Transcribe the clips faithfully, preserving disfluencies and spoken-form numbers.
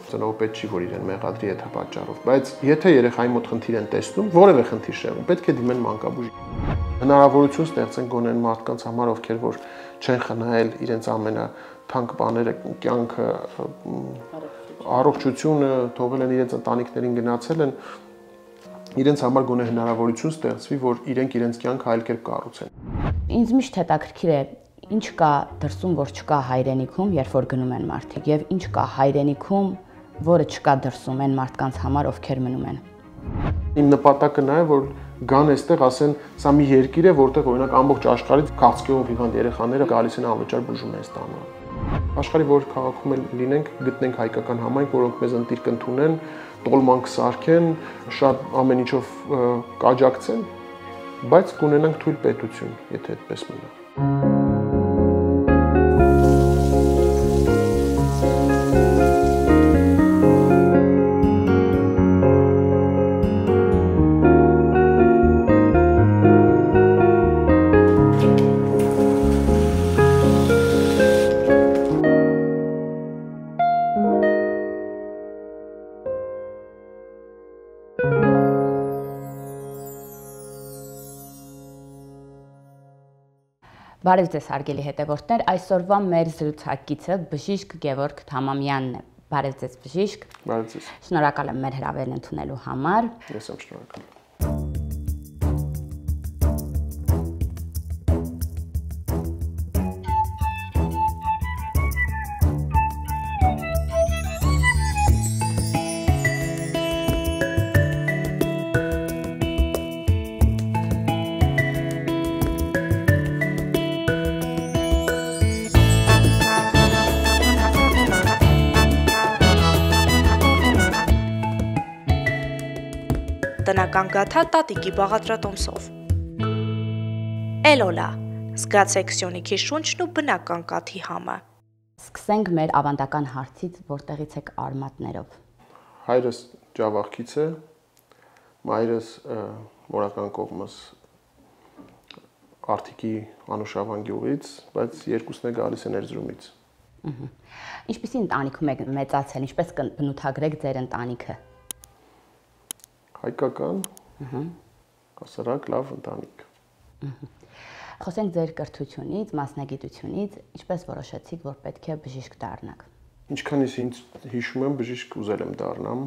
ծնողը պետք չի որ իրեն մեղադրի այդ պատճառով, բայց եթե երեխայի մոտ խնդիր են տեսնում, որևէ խնդիր շեղում, պետք է դիմեն մանկաբույժ։ Հնարավորություն ստեղծեն գոնե մարդկանց համար, ովքեր որ չեն խնայել իրենց ամենաթանկ բաները, կյանքը, առողջությունը, թողել են իրենց ընտանիքներին գնացել են, իրենց համար գոնե հնարավորություն ստեղծվի, որ իրենք իրենց կյանքը այլ կերպ կառուցեն։ Ինձ միշտ հետաքրքիր է ինչ կա դրսում, որ չկա հայրենիքում, երբ որ գնում են մարդիկ, եւ ինչ կա հայրենիքում, որը չկա դրսում այն մարդկանց համար, ովքեր մնում են։ Իմ նպատակը նա է, որ գան այստեղ ասեն, սա մի երկիր է, որտեղ օրինակ ամբողջ աշխարհից քաղցկեղով հիվանդ երեխաները գալիս են անվճար բուժում են ստանում։ Աշխարհի որ քաղաքում էլ լինենք, գտնենք հայկական համայնք, որոնք մեզ ընտիր կընդունեն, տոլման կսարքեն, շատ ամեն ինչով կաջակցեն, բայց կունենանք թույլ պետություն, եթե այդպես մնա։ Բարև ձեզ հարգելի հետևորդներ, այսօրվա մեր զրուցակիցը բժիշկ Գևորգ Թամամյանն է։ Բարև ձեզ բժիշկ։ Բարև ձեզ։ Շնորհակալ եմ մեր հրավերն ընդունելու համար։ Ես եմ շնորհակալ։ Տնական գաթա տատիկի բաղադրատոմսով։ Էլոլա, զգացեք սյունիքի շունչն ու բնական կաթի համը։ Սկսենք մեր ավանդական հարցից, որտեղից եք արմատներով։ Հայրս Ջավախքից է, մայրս մորական կողմս Արթիկի Անուշավան գյուղից, բայց երկուսն է գալիս են Էրզրումից։ Ինչպիսի ընտանիքում եք մեծացել, ինչպես կբնութագրեք ձեր ընտանիքը։ Հայկական, հասարակ լավ ընտանիք։ Խոսենք ձեր կրթությունից, մասնագիտությունից, ինչպես որոշեցիք, որ պետք է բժիշկ դառնաք։ Ինչքանից ինձ հիշում եմ, բժիշկ ուզել եմ դառնամ,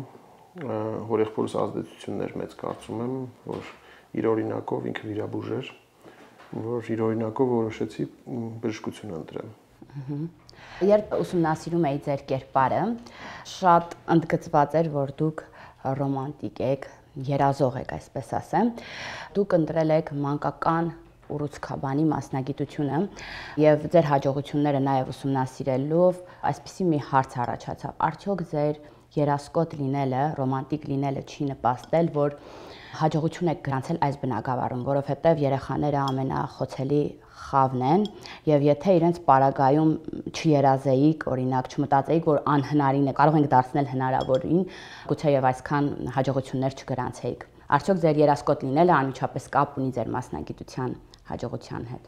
հորեղբորս ազդեցություններ մեծ կարծում եմ, որ իր օրինակով ինքը վիրաբույժ էր, որ իր օրինակով որոշեցի բժշկություն ընտրեմ։ Երբ ուսումնասիրում էի ձեր կերպարը, շատ ընդգծված էր, որ դուք ռոմանտիկ եք, երազող եք, այսպես ասեմ, դուք ընտրել եք մանկական ուռուցքաբանի մասնագիտությունը եւ ձեր հաջողությունները նաեւ ուսումնասիրելով այսպիսի մի հարց առաջացավ. արդյոք ձեր երասկոտ լինելը, ռոմանտիկ լինելը չի նպաստել, որ հաջողություն եք գրանցել այս բնագավառում, որովհետեւ երեխաները ամենախոցելի խավն են եւ եթե իրենց պարագայում չերազեիք, օրինակ չմտածեիք, որ անհնարին է, կարող ենք դարձնել հնարավորին, գուցե եւ այսքան հաջողություններ չգրանցեիք։ Արդյոք ձեր երասկոտ լինելը անմիջապես կապ ունի ձեր մասնագիտության հաջողության հետ։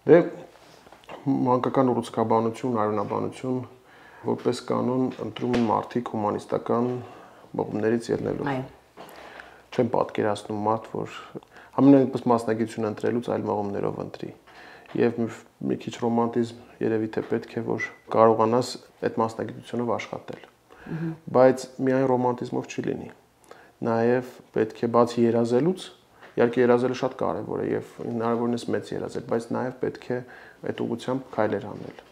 Դե մանկական ուռուցքաբանություն, արյունաբանություն որպես կանոն ընտրում են մարդիկ հումանիստական մղումներից ելնելով։ Այո։ Չեմ պատկերացնում մարդ, որ ամենայնպես մասնագիտություն ընտրելուց այլ մղումներով ընտրի։ Եվ մի քիչ ռոմանտիզմ երևի թե պետք է, որ կարողանաս այդ մասնագիտությունով աշխատել։ Բայց միայն ռոմանտիզմով չի լինի։ Նաև պետք է բացի երազելուց, իհարկե երազելը շատ կարևոր է եւ հնարավորինս մեծ երազել, բայց նաև պետք է այդ ուղղությամբ քայլեր անել։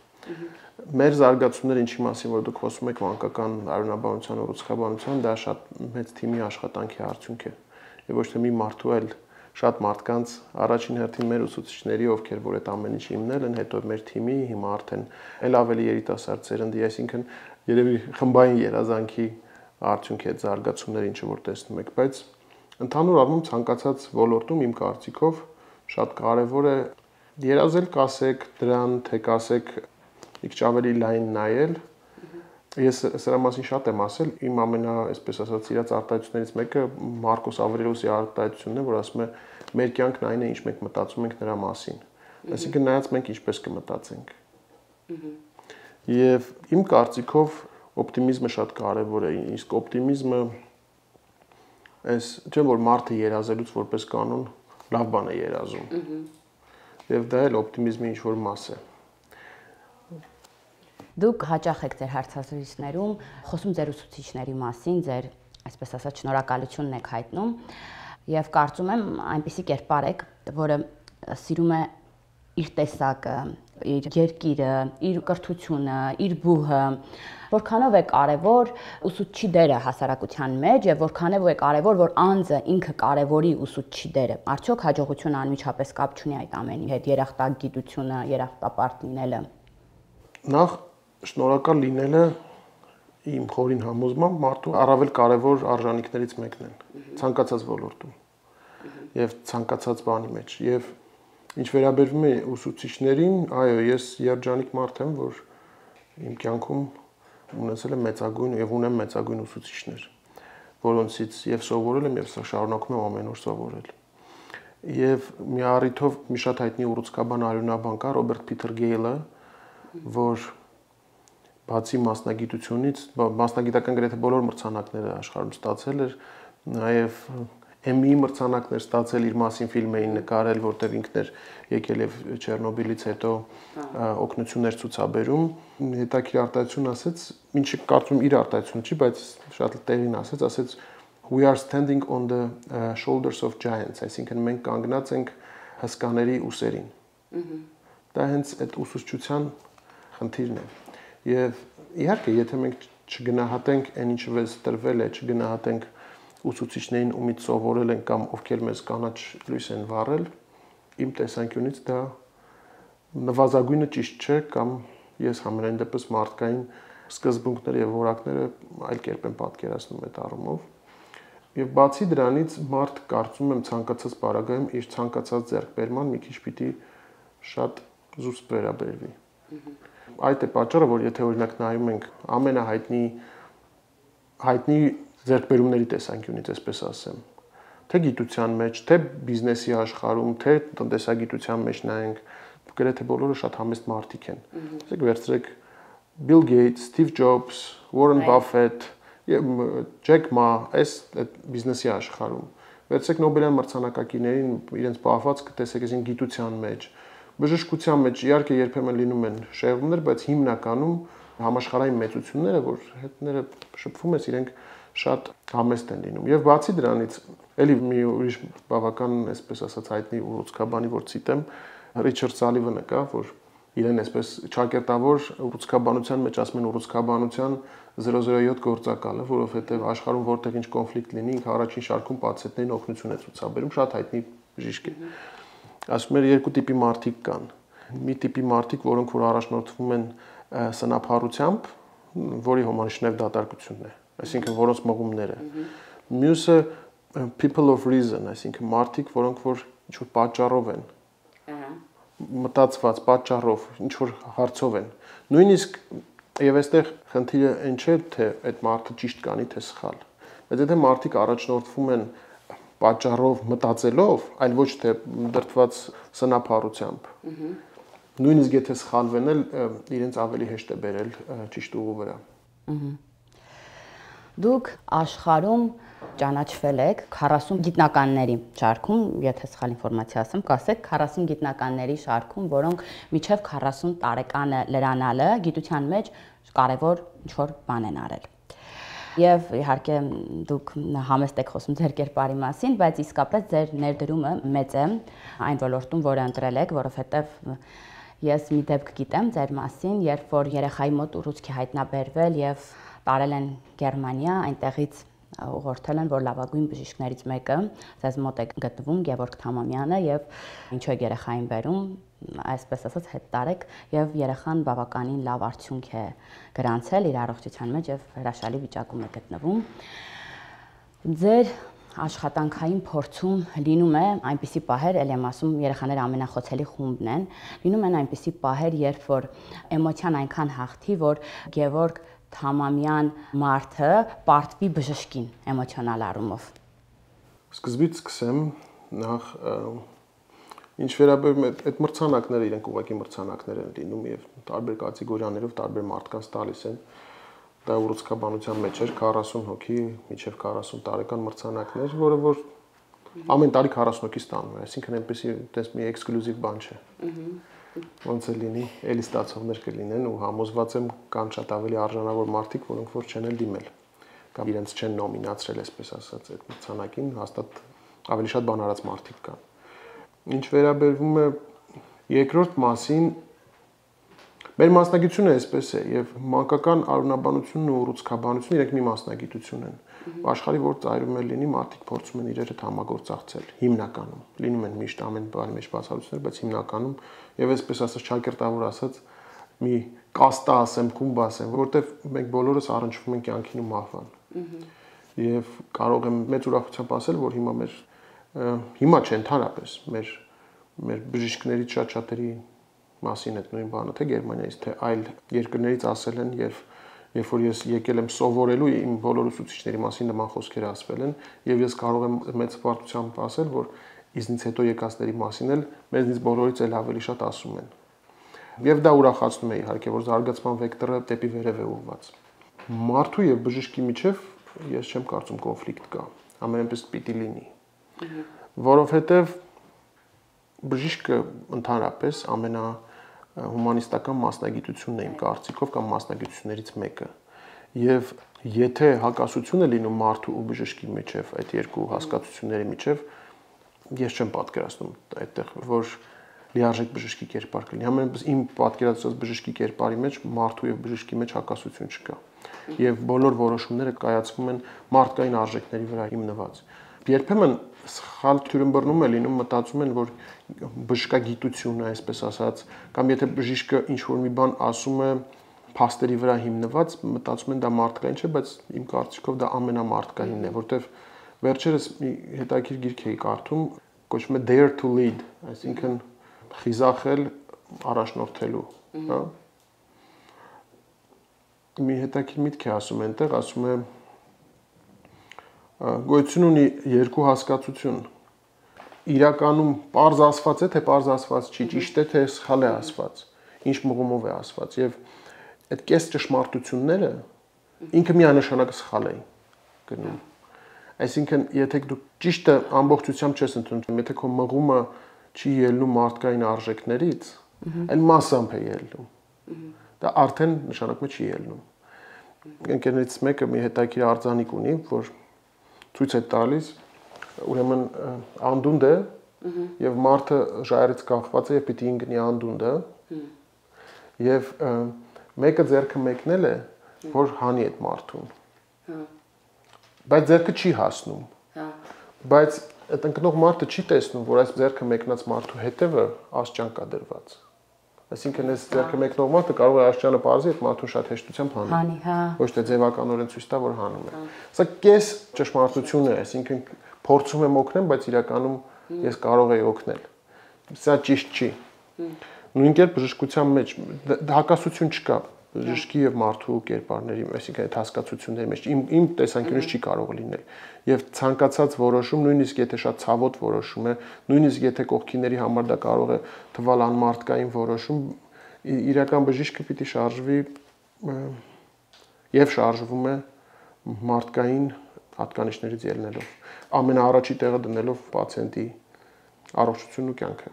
Մեր զարգացումները ինչի մասին, որ դուք խոսում եք մանկական արյունաբանության, ուռուցքաբանության, դա շատ մեծ թիմի աշխատանքի արդյունք է։ Եվ ոչ թե մի մարդու, այլ շատ մարդկանց, առաջին հերթին մեր ուսուցիչների, ովքեր որ այդ ամեն ինչը հիմնել են, հետո մեր թիմի, հիմա արդեն էլ ավելի երիտասարդ սերնդի, այսինքն երևի խմբային երազանքի արդյունք է այդ զարգացումները, ինչը որ տեսնում եք, բայց ընդհանուր առմամբ ցանկացած ոլորտում իմ կարծիքով շատ կարևոր է երազել, կասեք դրան, թե կասեք մի քիչ ավելի լայն նայել։ Ես սրա մասին շատ եմ ասել, իմ ամենա, այսպես ասած, սիրած արտահայտություններից մեկը Մարկոս Ավրելիոսի արտահայտությունն է, որ ասում է մեր կյանքն այն է, ինչ մենք մտածում ենք նրա մասին։ Այսինքն նայած մենք ինչպես կմտածենք։ Եվ իմ կարծիքով օպտիմիզմը շատ կարևոր է, իսկ օպտիմիզմը այս չէ որ մարդը երազելուց որպես կանոն լավ բան է երազում։ Եվ դա էլ օպտիմիզմի ինչ-որ մաս է։ Դուք հաճախ եք ձեր հարցազրույցներում խոսում ձեր ուսուցիչների մասին, ձեր, այսպես ասած, շնորհակալությունն եք հայտնում, եւ կարծում եմ այնպիսի կերպար եք, որը սիրում է իր տեսակը, իր երկիրը, իր կրթությունը, իր բուհը, որքանով է կարևոր ուսուցչի դերը հասարակության մեջ եւ որքանով է կարևոր որ անձը ինքը կարևորի ուսուցչի դերը։ Արդյոք հաջողությունը անմիջապես կապ չունի այդ ամենի հետ, երախտագիտությունը, երախտապարտ լինելը։ Նախ շնորհակալ լինելը իմ խորին համոզմամբ մարդու առավել կարևոր արժանինքներից մեկն է ցանկացած ոլորտում եւ ցանկացած բանի մեջ եւ ինչ վերաբերվում է ուսուցիչներին, այո, ես երջանիկ մարդ եմ, որ իմ կյանքում ունեցել եմ մեծագույն եւ ունեմ մեծագույն ուսուցիչներ, որոնցից եւ սովորել եմ եւ շարունակում եմ ամեն օր սովորել։ Եվ մի առիթով մի շատ հայտնի ուռուցքաբան արյունաբան կա Ռոբերտ Փիթեր Գեյլը, որ բացի մասնագիտությունից, մասնագիտական գրեթե բոլոր մրցանակները աշխարհում ստացել էր, նաեւ Էմմի մրցանակներ ստացել իր մասին ֆիլմ էին նկարել, որտեղ ինքն էր եկել եւ Չեռնոբիլից հետո օգնություններ ցուցաբերում, հետաքրիր արտահայտություն ասեց, ինչը կարծում իր արտահայտություն չի, բայց շատ տեղին ասեց, ասեց we are standing on the uh, shoulders of giants, այսինքն մենք կանգնած ենք հսկաների ուսերին։ Դա հենց այդ ուսուցչության խնդիրն է։ Եվ իհարկե, եթե մենք չգնահատենք այն ինչը մեզ տրվել է, չգնահատենք ուսուցիչներին ումից սովորել են կամ ովքեր մեզ կանաչ լույս են վառել, իմ տեսանկյունից դա նվազագույնը ճիշտ չէ կամ ես համենայն դեպս մարդկային սկզբունքները եւ որակները այլ կերպ եմ պատկերացնում այդ առումով։ Եվ բացի դրանից մարդ կարծում եմ ցանկացած բարագայում իր ցանկացած ձեռքբերման մի քիչ պիտի շատ զուսպ վերաբերվի։ Այդ է պատճառը, որ եթե օրինակ նայում ենք ամենահայտնի հայտնի ձեռքբերումների տեսանկյունից, այսպես ասեմ, թե գիտության մեջ, թե բիզնեսի աշխարհում, թե տնտեսագիտության մեջ նայենք, գրեթե բոլորը շատ համեստ մարդիկ են։ Ասեք վերցրեք Bill Gates, Steve Jobs, Warren Buffett, Jack Ma, այս բիզնեսի աշխարհում։ Վերցրեք Նոբելյան մրցանակակիրներին, իրենց պահվածքը տեսեք այսին գիտության մեջ, բժշկության մեջ, իհարկե երբեմն լինում են շեղումներ, բայց հիմնականում համաշխարհային մեծությունները, որ հետները շփվում ես, իրենք շատ համեստ են լինում։ Եվ բացի դրանից, ելի մի ուրիշ բավական, այսպես ասած, հայտնի ուռուցքաբանի, որ ցիտեմ, Ռիչարդ Սալիվանը կա, որ իրեն այսպես ճակերտավոր ուռուցքաբանության մեջ ասում են ուռուցքաբանության զերո զերո յոթ գործակալը, որովհետև աշխարհում որտեղ ինչ կոնֆլիկտ լինի, ինքը առաջին շարքում պացիենտներին օգնություն է ցուցաբերում, շատ հայտնի բժիշկ է։ Ասում էր երկու տիպի մարդիկ կան։ Մի տիպի մարդիկ, որոնք որ առաջնորդվում են սնափառությամբ, որի հոմանիշներ դատարկությունն է, այսինքն որոնց մղումները։ Մյուսը people of reason, այսինքն մարդիկ, որոնք որ ինչ որ պատճառով են մտածված պատճառով, ինչ որ հարցով են։ Նույնիսկ եւ այստեղ խնդիրը այն չէ, թե այդ մարդը ճիշտ կանի, թե սխալ։ Բայց եթե մարդիկ առաջնորդվում են պատճառով, մտածելով, այլ ոչ թե դրդված սնափառությամբ։ Նույնիսկ եթե սխալվեն էլ իրենց ավելի հեշտ է բերել ճիշտ ուղու վրա։ Դուք աշխարհում ճանաչվել եք քառասուն գիտնականների շարքում, եթե սխալ ինֆորմացիա ասեմ, կասեք քառասուն գիտնականների շարքում, որոնք միջև քառասուն տարեկանը լրանալը գիտության մեջ կարևոր ինչ-որ բան են արել։ Եվ իհարկե դուք համեստ եք խոսում ձեր կերպարի մասին, բայց իսկապես ձեր ներդրումը մեծ է այն ոլորտում, որը ընտրել եք, որովհետև ես մի դեպք գիտեմ ձեր մասին, երբ որ երեխայի մոտ ուռուցք է հայտնաբերվել եւ տարել են Գերմանիա, այնտեղից ուղղորդել են, որ լավագույն բժիշկներից մեկը ձեզ մոտ է գտնվում Գևորգ Թամամյանը եւ ինչու է երեխային բերում, այսպես ասած հետ տարեք եւ երեխան բավականին լավ արդյունք է գրանցել իր առողջության մեջ եւ հրաշալի վիճակում է գտնվում։ Ձեր աշխատանքային փորձում լինում է այնպիսի պահեր, ել եմ ասում, երեխաները ամենախոցելի խումբն են, լինում են այնպիսի պահեր, երբ որ էմոցիան այնքան հաղթի, որ Գևորգ Թամամյան մարդը պարտվի բժշկին էմոցիոնալ առումով։ Սկզբից սկսեմ, նախ ինչ վերաբերում է այդ մրցանակները, իրենք ուղղակի մրցանակներ են լինում եւ տարբեր կատեգորիաներով տարբեր մարդկանց տալիս են։ դա ուռուցքաբանության մեջ էր քառասուն հոգի, մինչև քառասուն տարեկան մրցանակներ, որը որ ամեն տարի քառասուն հոգի ստանում է, այսինքն այնպեսի այդպես մի էքսկլյուզիվ բան չէ։ Ոնց է լինի, էլի ստացողներ կլինեն ու համոզված եմ կան շատ ավելի արժանավոր մարդիկ, որոնք որ չեն էլ դիմել կամ իրենց չեն նոմինացրել, այսպես ասած, այդ մրցանակին, հաստատ ավելի շատ բան արած մարդիկ կան։ Ինչ վերաբերվում է երկրորդ մասին, մեր մասնագիտությունը այսպես է եւ մանկական արունաբանությունն ու ուռուցքաբանությունը իրենք մի մասնագիտություն են։ Աշխարհի որ ծայրում է լինի, մարդիկ փորձում են իրար հետ համագործակցել հիմնականում։ Լինում են միշտ ամեն բանի մեջ բացառություններ, բայց հիմնականում եւ այսպես ասած ճակերտավոր ասած մի կաստա ասեմ, կումբ ասեմ, որովհետեւ մենք բոլորս առնչվում ենք կյանքին ու մահվան։ Եվ կարող եմ մեծ ուրախությամբ ասել, որ հիմա մեր հիմա չէ ընդհանրապես մեր մեր բժիշկներից շատ-շատերի մասին այդ նույն բանը, թե Գերմանիայից, թե այլ երկրներից ասել են եւ երբ որ ես եկել եմ սովորելու իմ բոլոր ուսուցիչների մասին նման խոսքեր ասվել են եւ ես կարող եմ մեծ պարտությամբ ասել, որ իզնից հետո եկածների մասին էլ մեզնից բոլորից էլ ավելի շատ ասում են։ Եվ դա ուրախացնում է իհարկե, որ զարգացման վեկտորը դեպի վերև է ուղղված։ Մարդու եւ բժշկի միջև ես չեմ կարծում կոնֆլիկտ կա, ամենապես պիտի լինի։ Որովհետեւ բժիշկը ընդհանրապես ամենա հումանիստական մասնագիտությունն է իմ կարծիքով կամ մասնագիտություններից մեկը։ Եվ եթե հակասություն է լինում մարդու ու բժշկի միջև, այդ երկու հասկացությունների միջև, ես չեմ պատկերացնում այդտեղ, որ լիարժեք բժշկի կերպար կլինի։ Համենայնպես իմ պատկերացրած բժշկի կերպարի մեջ մարդու եւ բժշկի մեջ հակասություն չկա։ Եվ բոլոր որոշումները կայացվում են մարդկային արժեքների վրա հիմնված։ Երբեմն սխալ թյուրըմբռնում է լինում, մտածում են, որ բժշկագիտությունը, այսպես ասած, կամ եթե բժիշկը ինչ-որ մի բան ասում է փաստերի վրա հիմնված, մտածում են դա մարդկային չէ, բայց իմ կարծիքով դա ամենամարդկայինն է, որտեվ վերջերս մի հետաքրքիր գիրք էի կարդում, կոչվում է Dare to Lead, այսինքն խիզախել առաջնորդելու, հա։ Մի հետաքրքիր միտք է ասում այնտեղ, ասում է գոյություն ունի երկու հասկացություն։ Իրականում պարզ ասված է, թե պարզ ասված չի, ճիշտ է, թե սխալ է ասված, ինչ մղումով է ասված եւ այդ կես ճշմարտությունները ինքը միանշանակ սխալ է գնում։ Այսինքն, եթե դու ճիշտը ամբողջությամբ չես ընդունում, եթե քո մղումը չի ելնում մարդկային արժեքներից, այլ մասամբ է ելնում։ Դա արդեն նշանակում է չի ելնում։ Ընկերներից մեկը մի հետաքրքիր արձանիկ ունի, որ ցույց է տալիս, ուրեմն անդունդ է եւ մարդը ժայռից կախված է եւ պիտի ինգնի անդունդը եւ մեկը ձեռքը մեկնել է, որ հանի այդ մարդուն։ Բայց ձեռքը չի հասնում։ Բայց այդ ընկնող մարդը չի տեսնում, որ այս ձեռքը մեկնած մարդու հետևը աստիճան կա դրված։ Այսինքն այս ձեռքը մեկնող մարդը կարող է աստիճանը բարձի այդ մարդուն շատ հեշտությամբ հանի։ Հանի, հա։ Ոչ թե ձևականորեն ցույց տա, որ հանում է։ Սա կես ճշմարտություն է, այսինքն փորձում եմ օգնեմ, բայց իրականում ես կարող եի օգնել։ Սա ճիշտ չի։ Նույն կերպ բժշկության մեջ հակասություն չկա բժշկի եւ մարդու կերպարների, այսինքն այդ հասկացությունների մեջ իմ իմ տեսանկյունից չի կարող լինել։ Եվ ցանկացած որոշում, նույնիսկ եթե շատ ցավոտ որոշում է, նույնիսկ եթե կողքիների համար դա կարող է թվալ անմարդկային որոշում, իրական բժիշկը պիտի շարժվի եւ շարժվում է մարդկային հատկանիշներից ելնելով, ամենաառաջի տեղը դնելով պացիենտի առողջությունն ու կյանքը։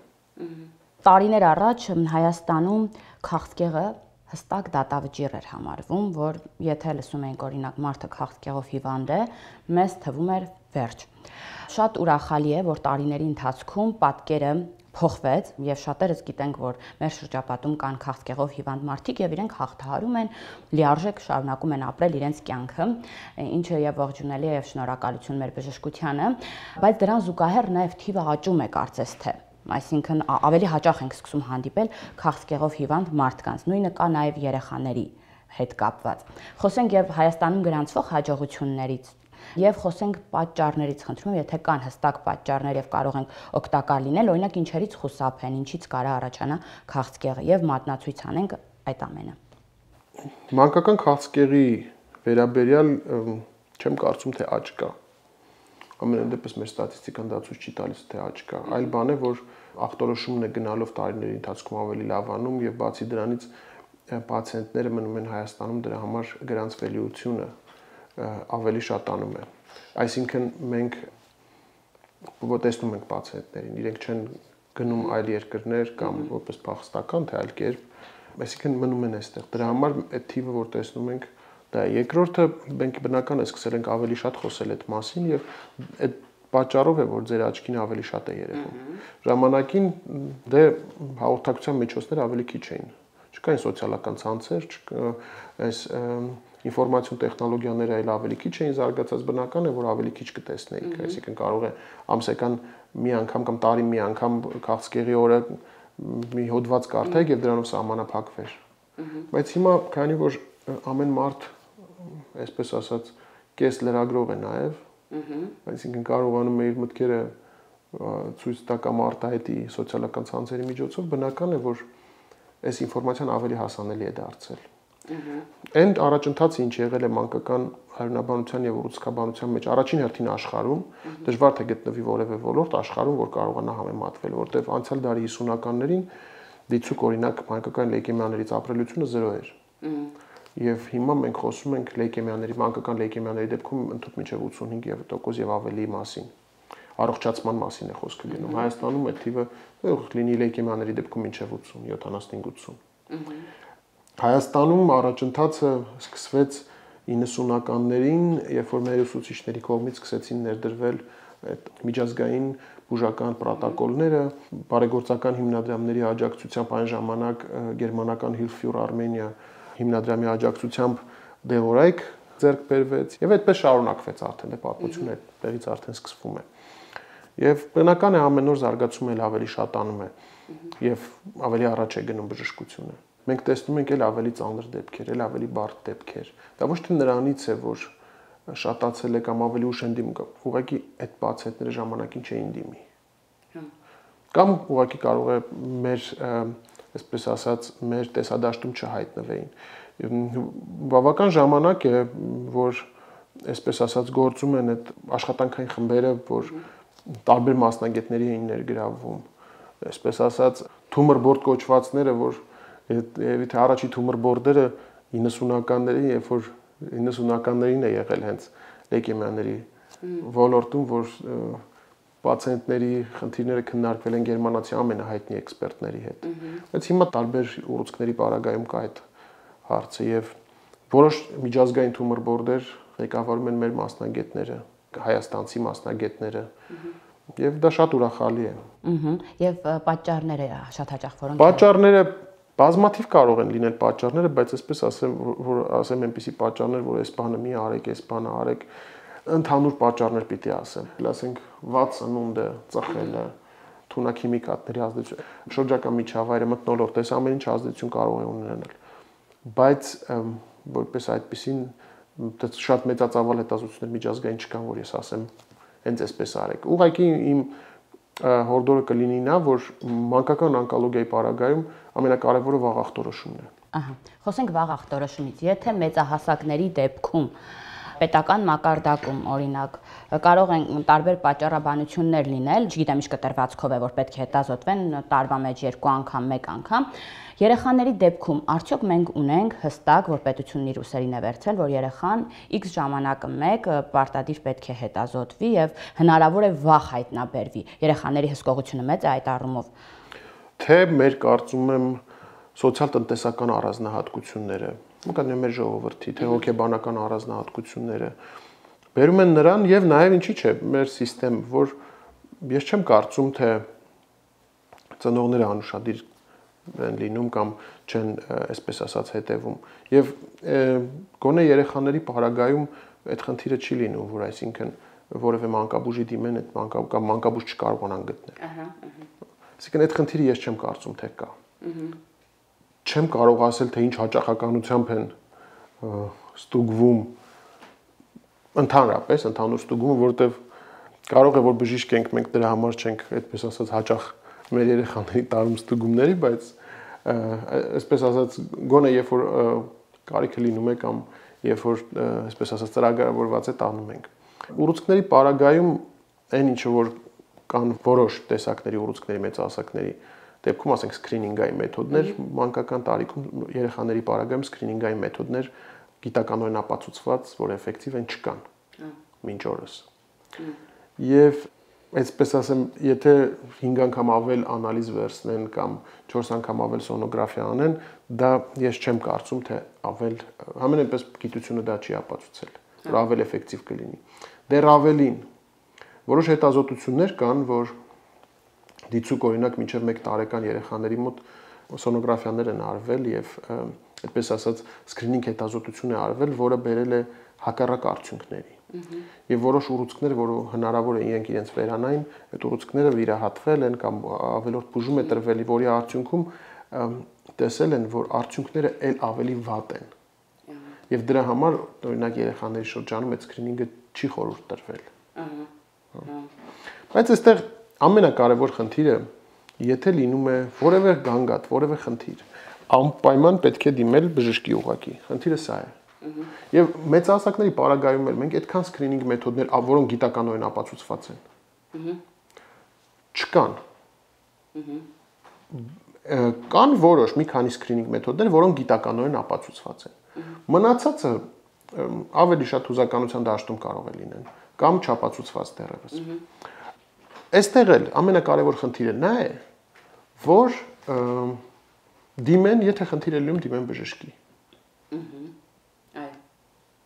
Տարիներ առաջ Հայաստանում քաղցկեղը հստակ դատավճիռ էր համարվում, որ եթե լսում էինք օրինակ մարդը քաղցկեղով հիվանդ է, մեզ թվում էր վերջ։ Շատ ուրախալի է, որ տարիների ընթացքում պատկերը փոխվեց եւ շատերս գիտենք, որ մեր շրջապատում կան քաղցկեղով հիվանդ մարդիկ եւ իրենք հաղթահարում են, լիարժեք շարունակում են ապրել իրենց կյանքը, ինչը եւ ողջունելի է եւ շնորհակալություն մեր բժշկությանը, բայց դրան զուգահեռ նաեւ թիվը աճում է կարծես թե։ Այսինքն ավելի հաճախ ենք սկսում հանդիպել քաղցկեղով հիվանդ մարդկանց, նույնը կա նաև երեխաների հետ կապված։ Խոսենք եւ Հայաստանում գրանցվող հաջողություններից եւ խոսենք պատճառներից, խնդրում եմ, եթե կան հստակ պատճառներ եւ կարող ենք օգտակար լինել, օրինակ ինչերից խուսափեն, ինչից կարա առաջանա քաղցկեղը եւ մատնացույց անենք այդ ամենը։ Մանկական քաղցկեղի վերաբերյալ չեմ կարծում, թե աճ կա։ Ամենայն դեպս մեր ստատիստիկան դա ցույց չի տալիս, թե աճ կա։ Այլ բան է, որ ախտորոշումն է գնալով տարիների ընթացքում ավելի լավանում եւ բացի դրանից պացիենտները մնում են Հայաստանում, դրա համար գրանցվելիությունը ավելի շատանում է։ Այսինքն մենք տեսնում ենք պացիենտներին, իրենք չեն գնում այլ երկրներ կամ որպես փախստական, թե այլ կերպ, այսինքն մնում են այստեղ։ Դրա համար այդ թիվը, որ տեսնում ենք, դա է։ Երկրորդը մենք բնական է սկսել ենք ավելի շատ խոսել այդ մասին եւ այդ պատճառով է, որ ձեր աչքին ավելի շատ է երևում։ Ժամանակին դե հաղորդակցության միջոցները ավելի քիչ էին։ Չկային սոցիալական ցանցեր, այս ինֆորմացիոն տեխնոլոգիաները այլ ավելի քիչ էին զարգացած, բնական է, որ ավելի քիչ կտեսնեիք, այսինքն կարող է ամսական մի անգամ կամ տարի մի անգամ քաղցկեղի օրը մի հոդված կարդայիք եւ դրանով սահմանափակվեր։ Բայց հիմա քանի որ ամեն մարդ, այսպես ասած, կես լրագրող է նաեւ, այսինքն կարողանում է իր մտքերը ցույց տա կամ արտահայտի սոցիալական ցանցերի միջոցով, բնական է, որ այս ինֆորմացիան ավելի հասանելի է դարձել։ Այն առաջընթացը, ինչ եղել է մանկական հարյունաբանության եւ ուռուցքաբանության մեջ առաջին հերթին աշխարհում, դժվար թե գտնվի որևէ ոլորտ աշխարհում, որ կարողանա համեմատվել, որտեղ անցյալ դարի հիսունականներին դիցուկ օրինակ մանկական լեյկեմիաներից ապրելությունը զրո էր։ Եվ հիմա մենք խոսում ենք լեյկեմիաների, մանկական լեյկեմիաների դեպքում ընդհանուր մինչև ութսունհինգ տոկոս եւ ավելի մասին։ Առողջացման մասին է խոսքը գնում։ Հայաստանում այդ թիվը լինի լեյկեմիաների դեպքում մինչև ութսուն, յոթանասունհինգ ութսուն։ Հայաստանում առաջընթացը սկսվեց իննսունականներին, երբ որ մեր ուսուցիչների կողմից սկսեցին ներդրվել այդ միջազգային բուժական պրոտոկոլները, բարեգործական հիմնադրամների աջակցությամբ այն ժամանակ գերմանական Hilfe für Armenia հիմնադրամի աջակցությամբ դեղորայք ձեռք բերվեց եւ այդպես շարունակվեց արդեն, դե պատմությունը այդտեղից արդեն սկսվում է։ Եվ բնական է ամեն օր զարգացումը էլ ավելի շատանում է եւ ավելի առաջ է գնում բժշկությունը։ Մենք տեսնում ենք էլ ավելի ծանր դեպքեր, էլ ավելի բարդ դեպքեր։ Դա ոչ թե նրանից է, որ շատացել է կամ ավելի ուշ են դիմում, ուղղակի այդ պացիենտները ժամանակին չէին դիմի։ Կամ ուղղակի կարող է մեր, այսպես ասած, մեր տեսադաշտում չհայտնվեին։ Բավական ժամանակ է, որ այսպես ասած գործում են այդ աշխատանքային խմբերը, որ տարբեր մասնագետների էին ներգրավվում, այսպես ասած, թումր բորդ կոչվածները, որ եւ թե առաջի թումր բորդերը իննսունականների, երբ որ իննսունականներին է եղել հենց լեյկեմիաների ոլորտում, որ պացիենտների խնդիրները քննարկվել են գերմանացի ամենահայտնի էքսպերտների հետ։ Բայց հիմա տարբեր ուռուցքների պարագայում կա այդ հարցը եւ որոշ միջազգային թումր բորդեր ղեկավարում են մեր մասնագետները, հայաստանցի մասնագետները։ Եվ դա շատ ուրախալի է։ Ահա, եւ պատճառները շատ հաճախ որոնք Պատճառները բազմաթիվ կարող են լինել պատճառները, բայց այսպես ասեմ, որ ասեմ այնպիսի պատճառներ, որ այս բանը մի արեք, այս բանը արեք, ընդհանուր պատճառներ պիտի ասեմ։ Ասենք վատ սնունդը, ծխելը, թունաքիմիկատների ազդեցություն, շրջակա միջավայրը, մթնոլորտը, այս ամեն ինչ ազդեցություն կարող է ունենալ։ Բայց որպես այդպեսին շատ մեծածավալ հետազոտություններ միջազգային չկան, որ ես ասեմ հենց այսպես արեք։ Ուղղակի իմ հորդորը կլինի նա, որ մանկական օնկոլոգիայի պարագայում ամենակարևորը վաղ ախտորոշումն է։ Ահա, խոսենք վաղ ախտորոշումից։ Եթե մեծահասակների դեպքում պետական մակարդակում օրինակ կարող են տարբեր պատճառաբանություններ լինել, չգիտեմ ինչ կտրվածքով է, որ պետք է հետազոտվեն տարվա մեջ երկու անգամ, մեկ անգամ, երեխաների դեպքում արդյոք մենք ունենք հստակ, որ պետությունն իր ուսերին է վերցրել, որ երեխան X ժամանակը մեկ պարտադիր պետք է հետազոտվի եւ հնարավոր է վաղ հայտնաբերվի։ Երեխաների հսկողությունը մեծ է այդ առումով։ Թե մեր կարծում եմ սոցիալ-տնտեսական առանձնահատկությունները, մկան մեր ժողովրդի, թե հոգեբանական առանձնահատկությունները բերում են նրան եւ նաեւ ինչի՞ չէ, մեր համակարգ, որ ես չեմ կարծում, թե ծնողները անուշադիր են լինում կամ չեն, այսպես ասած, հետևում։ Եվ գոնե երեխաների պարագայում այդ խնդիրը չի լինում, որ այսինքն որևէ մանկաբուժի դիմեն այդ մանկա կամ մանկաբուժ չկարողանան գտնել։ Ահա, ահա։ Այսինքն այդ խնդիրը ես չեմ կարծում, թե կա։ Ահա։ Չեմ կարող ասել, թե ինչ հաճախականությամբ են ստուգվում ընդհանրապես, ընդհանուր ստուգումը, որովհետև կարող է որ բժիշկ ենք, մենք դրա համար չենք, այդպես ասած, հաճախ մեր երեխաների տարում ստուգումների, բայց այսպես ասած, գոնե երբ որ կարիքը լինում է կամ երբ որ այսպես ասած ծրագրավորված է, տանում ենք։ Ուռուցքների պարագայում այն ինչը որ կան որոշ տեսակների ուռուցքների մեծահասակների դեպքում ասենք սկրինինգային մեթոդներ, մանկական տարիքում երեխաների պարագայում սկրինինգային մեթոդներ գիտականորեն ապացուցված, որ էֆեկտիվ են չկան մինչ օրս։ Եվ այսպես ասեմ, եթե հինգ անգամ ավել անալիզ վերցնեն կամ չորս անգամ ավել սոնոգրաֆիա անեն, դա ես չեմ կարծում, թե ավել համենայնպես գիտությունը դա չի ապացուցել, որ ավել էֆեկտիվ կլինի։ Դեռ ավելին, որոշ հետազոտություններ կան, որ դիցուկ օրինակ մինչև մեկ տարեկան երեխաների մոտ սոնոգրաֆիաներ են արվել եւ այդպես ասած սկրինինգ հետազոտություն է արվել, որը բերել է հակառակ արդյունքների։ Եվ որոշ ուռուցքներ, որ հնարավոր է իրենք իրենց վերանային, այդ ուռուցքները վիրահատվել են կամ ավելորդ բուժում է տրվել, որի արդյունքում տեսել են, որ արդյունքները ել ավելի վատ են։ Եվ դրա համար օրինակ երեխաների շրջանում այդ սկրինինգը չի խորհուրդ տրվել։ Բայց այստեղ ամենակարևոր խնդիրը, եթե լինում է որևէ գանգատ, որևէ խնդիր, անպայման պետք է դիմել բժշկի ուղղակի։ Խնդիրը սա է։ Եվ մեծահասակների պարագայում էլ մենք այդքան սկրինինգ մեթոդներ, որոնք գիտականորեն ապացուցված են, չկան։ Կան որոշ մի քանի սկրինինգ մեթոդներ, որոնք գիտականորեն ապացուցված են։ Մնացածը ավելի շատ հուզականության դաշտում կարող է լինեն կամ չապացուցված դեռևս։ Այստեղ էլ ամենակարևոր խնդիրը նա է, որ դիմեն, եթե խնդիր է լինում, դիմեն բժշկի։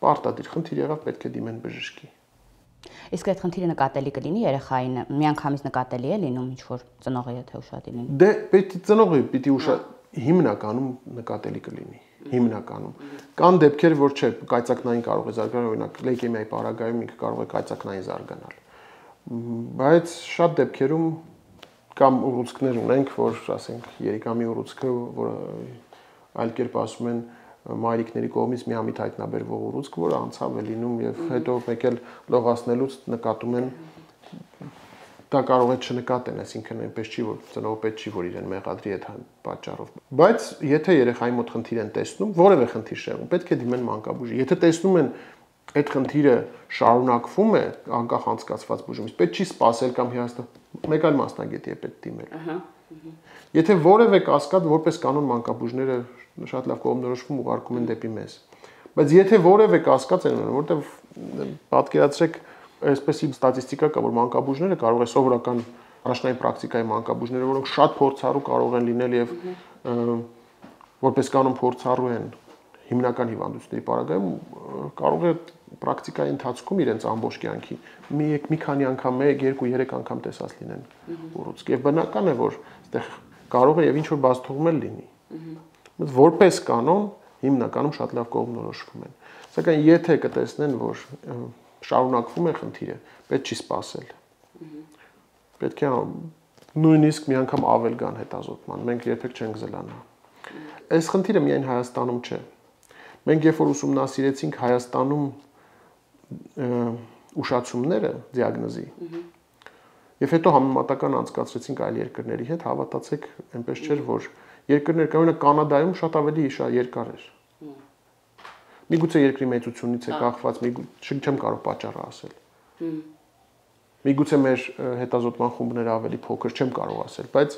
Պարտադիր խնդիր եղավ, պետք է դիմեն բժշկի։ Իսկ այդ խնդիրը նկատելի կլինի երեխային, միանգամից նկատելի է լինում, ինչ որ ծնողը եթե ուշադիր լինի։ Դե պետք է ծնողը պիտի ուշադիր հիմնականում նկատելի կլինի, հիմնականում։ Կան դեպքեր, որ չէ, կայծակնային կարող է զարգանալ, օրինակ լեյկեմիայի պարագայում ինքը կարող է կայծակնային զարգանալ։ Բայց շատ դեպքերում կամ ուռուցքներ ունենք, որ ասենք երիկամի ուռուցքը, որ այլ կերպ ասում են մայրիկների կողմից միամիտ հայտնաբերվող ուռուցք, որը անցավ է լինում եւ հետո մեկ էլ լողացնելուց նկատում են դա կարող է չնկատեն, այսինքն այնպես չի, որ ծնողը պետք չի, որ իրեն մեղադրի այդ պատճառով։ Բայց եթե երեխայի մոտ խնդիր են տեսնում, որևէ խնդիր շեղում, պետք է դիմեն մանկաբույժի։ Եթե տեսնում են այդ խնդիրը շարունակվում է անկախ անցկացված բուժումից, պետք չի սпасել կամ հիասթափ մեկ այլ մասնագետի է պետք դիմել։ Եթե որևէ կասկած, որպես կանոն մանկաբույժները շատ լավ կողմնորոշվում ուղարկում են դեպի մեզ։ Բայց եթե որևէ կասկած են ունենում, որտեղ պատկերացրեք այսպեսի ստատիստիկա կա, որ մանկաբույժները կարող է սովորական առաջնային պրակտիկայի մանկաբույժները, որոնք շատ փորձառու կարող են լինել եւ որպես կանոն փորձառու են հիմնական հիվանդությունների պարագայում, կարող է պրակտիկայի ընթացքում իրենց ամբողջ կյանքի մի մի քանի անգամ, մեկ, երկու, երեք անգամ տեսած լինեն ուռուցք։ Եվ բնական է, որ այդտեղ կարող է եւ ինչ որ բացթողում էլ լինի։ Բայց որպես կանոն հիմնականում շատ լավ կողմնորոշվում են։ Սակայն եթե կտեսնեն, որ շարունակվում է խնդիրը, պետք չի սпасել։ Պետք է նույնիսկ մի անգամ ավել գան հետազոտման, մենք երբեք չենք զլանա։ Այս խնդիրը միայն Հայաստանում չէ։ Մենք երբ որ ուսումնասիրեցինք Հայաստանում ուշացումները դիագնոզի, եւ հետո համեմատական անցկացրեցինք այլ երկրների հետ, հավատացեք, այնպես չէր, որ երկրներ կան, օրինակ Կանադայում շատ ավելի երկար էր։ Միգուցե երկրի մեծությունից է կախված, չեմ կարող պատճառը ասել։ Միգուցե մեր հետազոտման խումբները ավելի փոքր, չեմ կարող ասել, բայց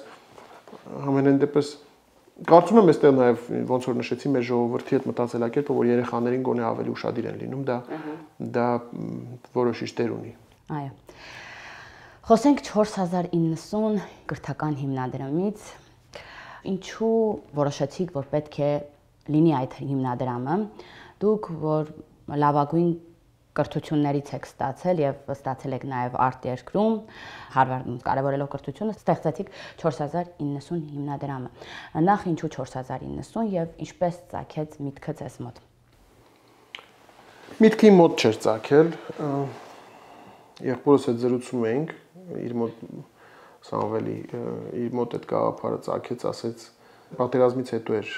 ամենայն դեպս կարծում եմ այստեղ նաև ոնց որ նշեցի մեր ժողովրդի հետ մտածելակերպը, որ երեխաներին գոնե ավելի ուշադիր են լինում, դա դա որոշիչ դեր ունի։ Այո։ Խոսենք չորս հազար իննսուն կրթական հիմնադրամից, ինչու որոշեցիք, որ պետք է լինի այդ հիմնադրամը, դուք որ լավագույն կրթություններից եք ստացել եւ ստացել եք նաեւ արտերկրում, Հարվարդում կարևորելով կրթությունը, ստեղծեցիք չորս հազար իննսուն հիմնադրամը։ Նախ ինչու չորս հազար իննսուն եւ ինչպես ծագեց միտքը ձեզ մոտ։ Միտքի մոտ չէր ծագել, եղբորս հետ զրուցում էինք, իր մոտ Սամվելի, իր մոտ այդ գաղափարը ծագեց, ասեց պատերազմից հետո էր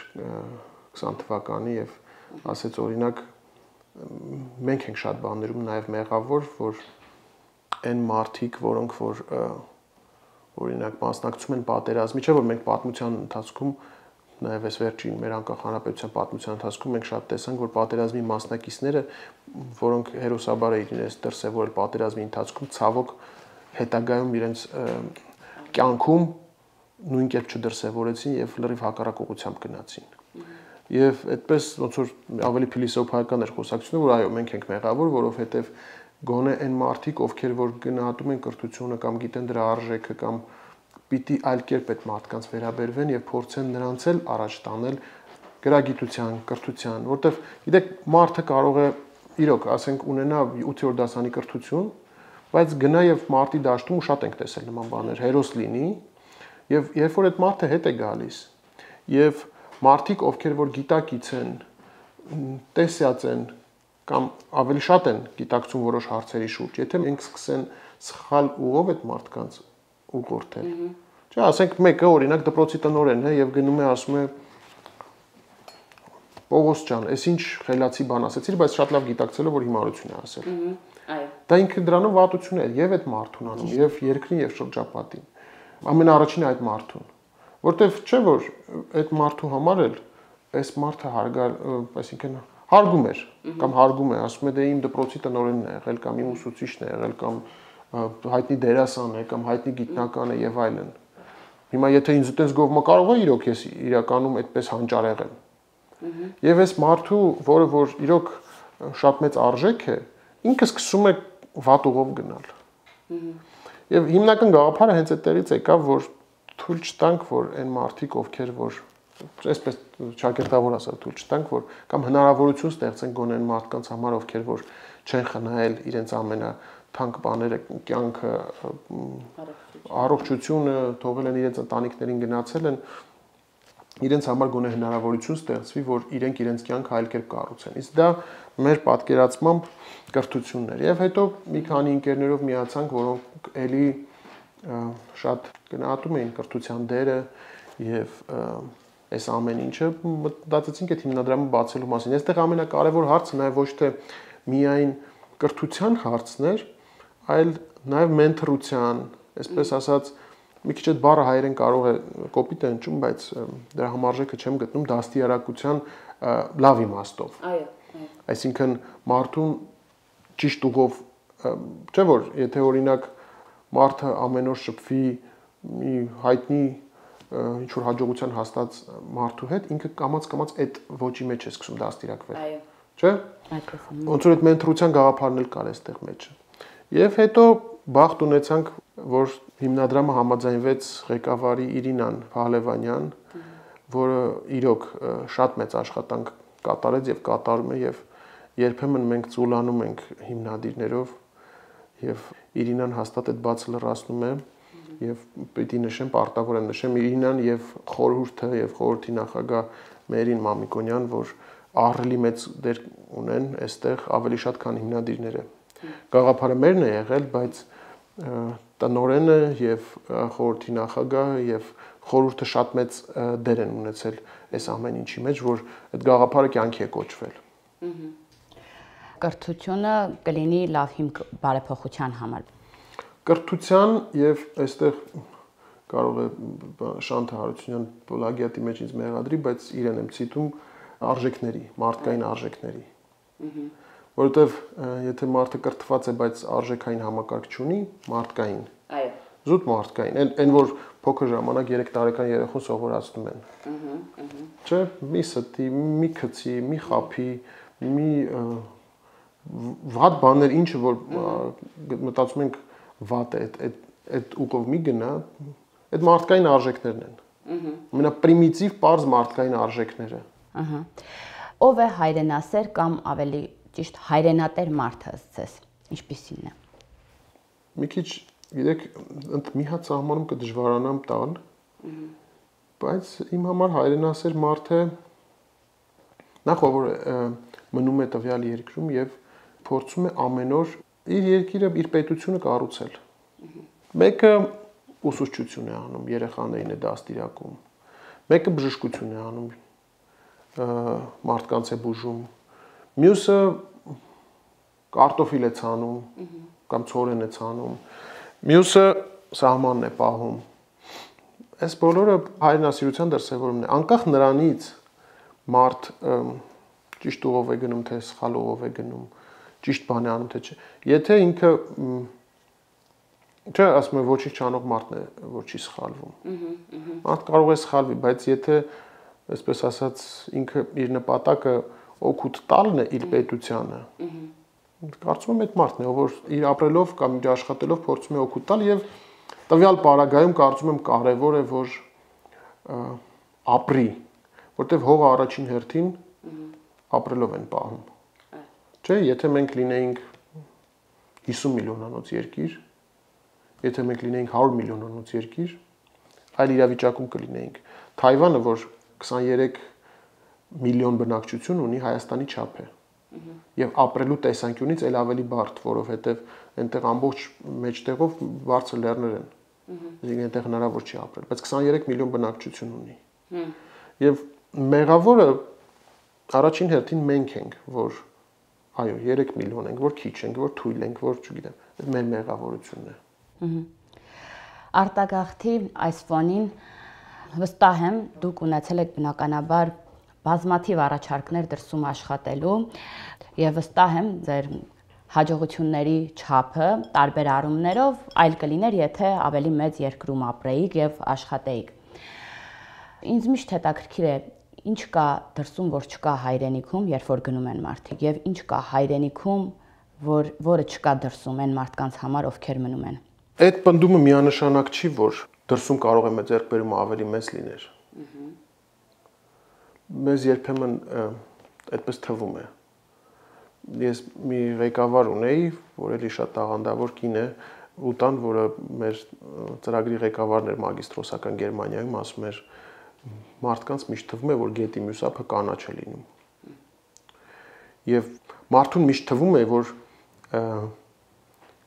քսան թվականի եւ ասեց օրինակ մենք ենք շատ բաներում նաև մեղավոր, որ այն մարդիկ, որոնք որ օրինակ մասնակցում են պատերազմի, չէ՞ որ մենք պատմության ընթացքում նաև այս վերջին մեր անկախ հանրապետության պատմության ընթացքում մենք շատ տեսանք, որ պատերազմի մասնակիցները, որոնք հերոսաբար էին իրենց դրսևորել պատերազմի ընթացքում, ցավոք հետագայում իրենց կյանքում նույն կերպ չդրսևորեցին եւ լրիվ հակառակ ուղղությամբ գնացին։ Եվ այդպես ոնց որ ավելի փիլիսոփայական էր խոսակցությունը, որ այո, մենք ենք մեղավոր, որովհետեւ գոնե այն մարդիկ, ովքեր որ գնահատում են կրթությունը կամ գիտեն դրա արժեքը կամ պիտի այլ կերպ այդ մարդկանց վերաբերվեն եւ փորձեն նրանց էլ առաջ տանել գրագիտության, կրթության, որտեվ գիտեք, մարդը կարող է իրոք, ասենք, ունենա ութերորդ դասանի կրթություն, բայց գնա եւ մարտի դաշտում ու շատ ենք տեսել նման բաներ, հերոս լինի, եւ երբ որ այդ մարդը հետ է գալիս, եւ մարդիկ, ովքեր որ գիտակից են, տեսյաց են կամ ավելի շատ են գիտակցում որոշ հարցերի շուրջ, եթե մենք սկսեն սխալ ուղով այդ մարդկանց ուղղորդել։ Չէ, ասենք մեկը օրինակ դպրոցի տնօրենն է եւ գնում է ասում է Պողոս ջան, այս ինչ խելացի բան ասեցիր, բայց շատ լավ գիտակցելով որ հիմարություն է ասել։ Այո։ Դա ինքը դրանով վատություն է եւ այդ մարդուն անում, եւ երկրին եւ շրջապատին։ Ամենաառաջինը այդ մարդուն, որտեվ չէ որ այդ մարդու համար էլ այս մարդը հարգար, այսինքն հարգում էր կամ հարգում է, ասում է դե իմ դպրոցի տնօրենն է եղել կամ իմ ուսուցիչն է եղել կամ հայտնի դերասան է կամ հայտնի գիտնական է եւ այլն։ Հիմա եթե ինձ այդպես գովմա կարող է իրոք ես իրականում այդպես հանճար եղեմ։ Եվ այս մարդու, որը որ իրոք շատ մեծ արժեք է, ինքը սկսում է վատ ուղով գնալ։ Եվ հիմնական գաղափարը հենց այդտեղից եկավ, որ թույլ չտանք, որ այն մարդիկ, ովքեր որ այսպես ճակերտավոր ասած թույլ չտանք, որ կամ հնարավորություն ստեղծենք գոնե այն մարդկանց համար, ովքեր որ չեն խնայել իրենց ամենաթանկ բաները, կյանքը, առողջությունը, թողել են իրենց ընտանիքներին գնացել են, իրենց համար գոնե հնարավորություն ստեղծվի, որ իրենք իրենց կյանքը այլ կերպ կառուցեն։ Իսկ դա մեր պատկերացմամբ կրթությունն էր։ Եվ հետո մի քանի ընկերներով միացանք, որոնք էլի շատ գնահատում էին կրթության դերը եւ այս ամեն ինչը, մտածեցինք այդ հիմնադրամը բացելու մասին։ Այստեղ ամենակարևոր հարցը նաեւ ոչ թե միայն կրթության հարցն էր, այլ նաեւ մենթորության, այսպես ասած, մի քիչ այդ բառը հայերեն կարող է կոպիտ է հնչում, բայց դրա համարժեքը չեմ գտնում դաստիարակության լավ իմաստով։ Այո, այո։ Այսինքն մարդուն ճիշտ ուղով, չէ՞ որ, եթե օրինակ մարդը ամեն օր շփվի մի հայտնի ինչ որ հաջողության հաստատ մարդու հետ, ինքը կամաց-կամաց այդ ոճի մեջ է սկսում դաստիարակվել։ Այո։ Չէ՞։ Այդպես է։ Ոնց որ այդ մենթորության գաղափարն էլ կար այստեղ մեջը։ Եվ հետո բախտ ունեցանք, որ հիմնադրամը համաձայնվեց ղեկավարի Իրինան Փահլևանյան, որը իրոք շատ մեծ աշխատանք կատարեց եւ կատարում է եւ երբեմն մենք ծուլանում ենք հիմնադիրներով եւ Իրինան հաստատ այդ բացը լրացնում է եւ պիտի նշեմ, պարտավոր եմ նշեմ Իրինան եւ խորհուրդը եւ խորհրդի նախագահ Մերին Մամիկոնյան, որ ահռելի մեծ դեր ունեն այստեղ ավելի շատ քան հիմնադիրները։ Գաղափարը մերն է եղել, բայց տնօրենը եւ խորհրդի նախագահը եւ խորհուրդը շատ մեծ դեր են ունեցել այս ամեն ինչի մեջ, որ այդ գաղափարը կյանքի է կոչվել։ Կրթությունը կլինի լավ հիմք բարեփոխության համար։ Կրթության եւ այստեղ կարող է Շանթ Հարությունյան պլագիատի մեջ ինձ մեղադրի, բայց իրեն եմ ցիտում արժեքների, մարդկային արժեքների։ Որովհետև եթե մարդը կրթված է, բայց արժեքային համակարգ չունի, մարդկային։ Այո։ Զուտ մարդկային, այն որ փոքր ժամանակ երեք տարեկան երեխուն սովորացնում են։ Չէ, մի ստի, մի քցի, մի խափի, մի վատ բաներ, ինչը որ մտածում ենք վատ է, այդ այդ ուղով մի գնա, այդ մարդկային արժեքներն են։ Ամենապրիմիտիվ պարզ մարդկային արժեքները։ Ահա։ Ով է հայրենասեր կամ ավելի ճիշտ հայրենատեր մարդը ըստ ինչպիսին է։ Մի քիչ, գիտեք, մի հատ սահմանում կդժվարանամ տալ, բայց իմ համար հայրենասեր մարդը նախ որ մնում է տվյալ երկրում եւ փորձում է ամեն օր իր երկիրը, իր պետությունը կառուցել։ Մեկը ուսուցչություն է անում, երեխաներին է դաստիարակում։ Մեկը բժշկություն է անում, մարդկանց է բուժում։ Մյուսը կարտոֆիլ է ցանում կամ ցորեն է ցանում։ Մյուսը սահմանն է պահում։ Այս բոլորը հայրենասիրության դրսևորումն է։ Անկախ նրանից մարդ ճիշտ ուղով է գնում, թե սխալ ուղով է գնում, ճիշտ բան է անում, թե չէ։ Եթե ինքը Չէ, ասում եմ ոչինչ չանող մարդն է, որ չի սխալվում։ Մարդ կարող է սխալվի, բայց եթե, այսպես ասած, ինքը իր նպատակը օգուտ տալն է իր պետությանը, կարծում եմ այդ մարդն է, որ իր ապրելով կամ իր աշխատելով փորձում է օգուտ տալ եւ տվյալ պարագայում կարծում եմ կարեւոր է, որ ապրի, որտեվ հողը առաջին հերթին ապրելով են պահում։ Չէ, եթե մենք լինեինք հիսուն միլիոնանոց երկիր, եթե մենք լինեինք հարյուր միլիոնանոց երկիր, այլ իրավիճակում կլինեինք։ Թայվանը, որ քսաներեք միլիոն բնակչություն ունի, Հայաստանի չափ է։ Եվ ապրելու տեսանկյունից էլ ավելի բարդ, որովհետև այնտեղ ամբողջ մեջտեղով բարձր լեռներ են։ Այսինքն այնտեղ հնարավոր չի ապրել, բայց քսաներեք միլիոն բնակչություն ունի։ Եվ մեղավորը առաջին հերթին մենք ենք, որ այո, երեք միլիոն ենք, որ քիչ ենք, որ թույլ ենք, որ չգիտեմ, այդ մեր մեղավորությունն է։ Արտագաղթի այս ֆոնին վստահ եմ, դուք ունեցել եք բնականաբար բազմաթիվ առաջարկներ դրսում աշխատելու եւ վստահ եմ ձեր հաջողությունների չափը տարբեր առումներով այլ կլիներ, եթե ավելի մեծ երկրում ապրեիք եւ աշխատեիք։ Ինձ միշտ հետաքրքիր է, ինչ կա դրսում, որ չկա հայրենիքում, երբ որ գնում են մարդիկ, եւ ինչ կա հայրենիքում, որ որը չկա դրսում այն մարդկանց համար, ովքեր մնում են։ Այդ պնդումը միանշանակ չի, որ դրսում կարող է մեր ձեռքբերումը ավելի մեծ լիներ։ Մեզ երբեմն այդպես թվում է։ Ես մի ղեկավար ունեի, որ էլի շատ տաղանդավոր կին է, ուտան, որը մեր ծրագրի ղեկավարն էր մագիստրոսական Գերմանիայում, ասում էր մարդկանց միշտ թվում է, որ գետի մյուս ափը կանաչ է լինում։ Եվ մարդուն միշտ թվում է, որ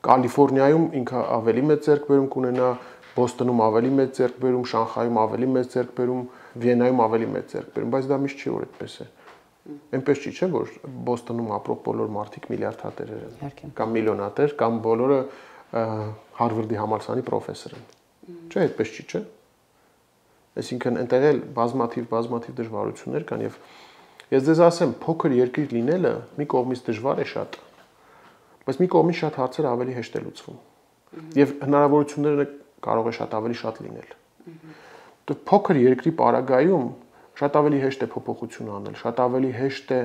Կալիֆոռնիայում ինքը ավելի մեծ ձեռքբերում կունենա, Բոստոնում ավելի մեծ ձեռքբերում, Շանխայում ավելի մեծ ձեռքբերում, Վիեննայում ավելի մեծ ձեռքբերում, բայց դա միշտ չի, որ այդպես է։ Այնպես չի, չէ՞, որ Բոստոնում ապրող բոլոր մարդիկ միլիարդատերեր են, կամ միլիոնատեր, կամ բոլորը Հարվարդի համալսարանի պրոֆեսոր են։ Չէ, այդպես չի, չէ՞։ Այսինքն այնտեղ էլ բազմաթիվ բազմաթիվ դժվարություններ կան եւ ես ձեզ ասեմ, փոքր երկիր լինելը մի կողմից դժվար է շատ, բայց մի կողմից շատ հարցեր ավելի հեշտ է լուծվում։ Եվ հնարավորությունները կարող է շատ ավելի շատ լինել։ Դու փոքր երկրի պարագայում շատ ավելի հեշտ է փոփոխություն անել, շատ ավելի հեշտ է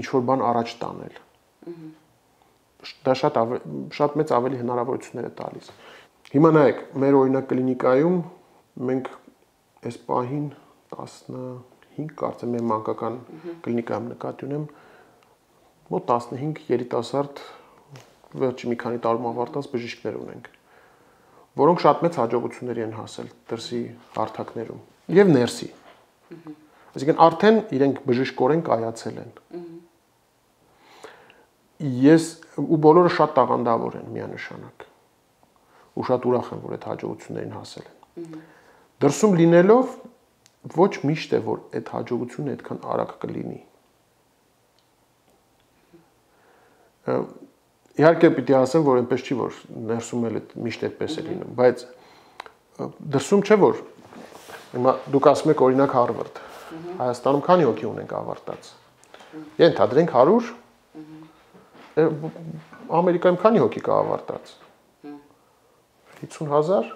ինչ որ բան առաջ տանել։ Դա շատ շատ մեծ ավելի հնարավորություններ է տալիս։ Հիմա նայեք, մեր օրինակ կլինիկայում մենք այս պահին տասնհինգ կարծեմ եմ մանկական կլինիկայում նկատի ունեմ, մոտ տասնհինգ երիտասարդ վերջի մի քանի տարում ավարտած բժիշկներ ունենք, որոնք շատ մեծ հաջողությունների են հասել դրսի հարթակներում եւ ներսի։ Այսինքն արդեն իրենք բժիշկորեն կայացել են։ Ես ու բոլորը շատ տաղանդավոր են միանշանակ։ Ու շատ ուրախ եմ, որ այդ հաջողություններին հասել են։ Դրսում լինելով ոչ միշտ է, որ այդ հաջողությունը այդքան արագ կլինի։ Իհարկե պիտի ասեմ, որ այնպես չի, որ ներսում էլ միշտ այդպես է լինում, բայց դրսում չէ, որ հիմա դուք ասում եք օրինակ Հարվարդ, Հայաստանում քանի հոգի ունենք ավարտած։ Ենթադրենք հարյուր, Ամերիկայում քանի հոգի կա ավարտած։ հիսուն հազար։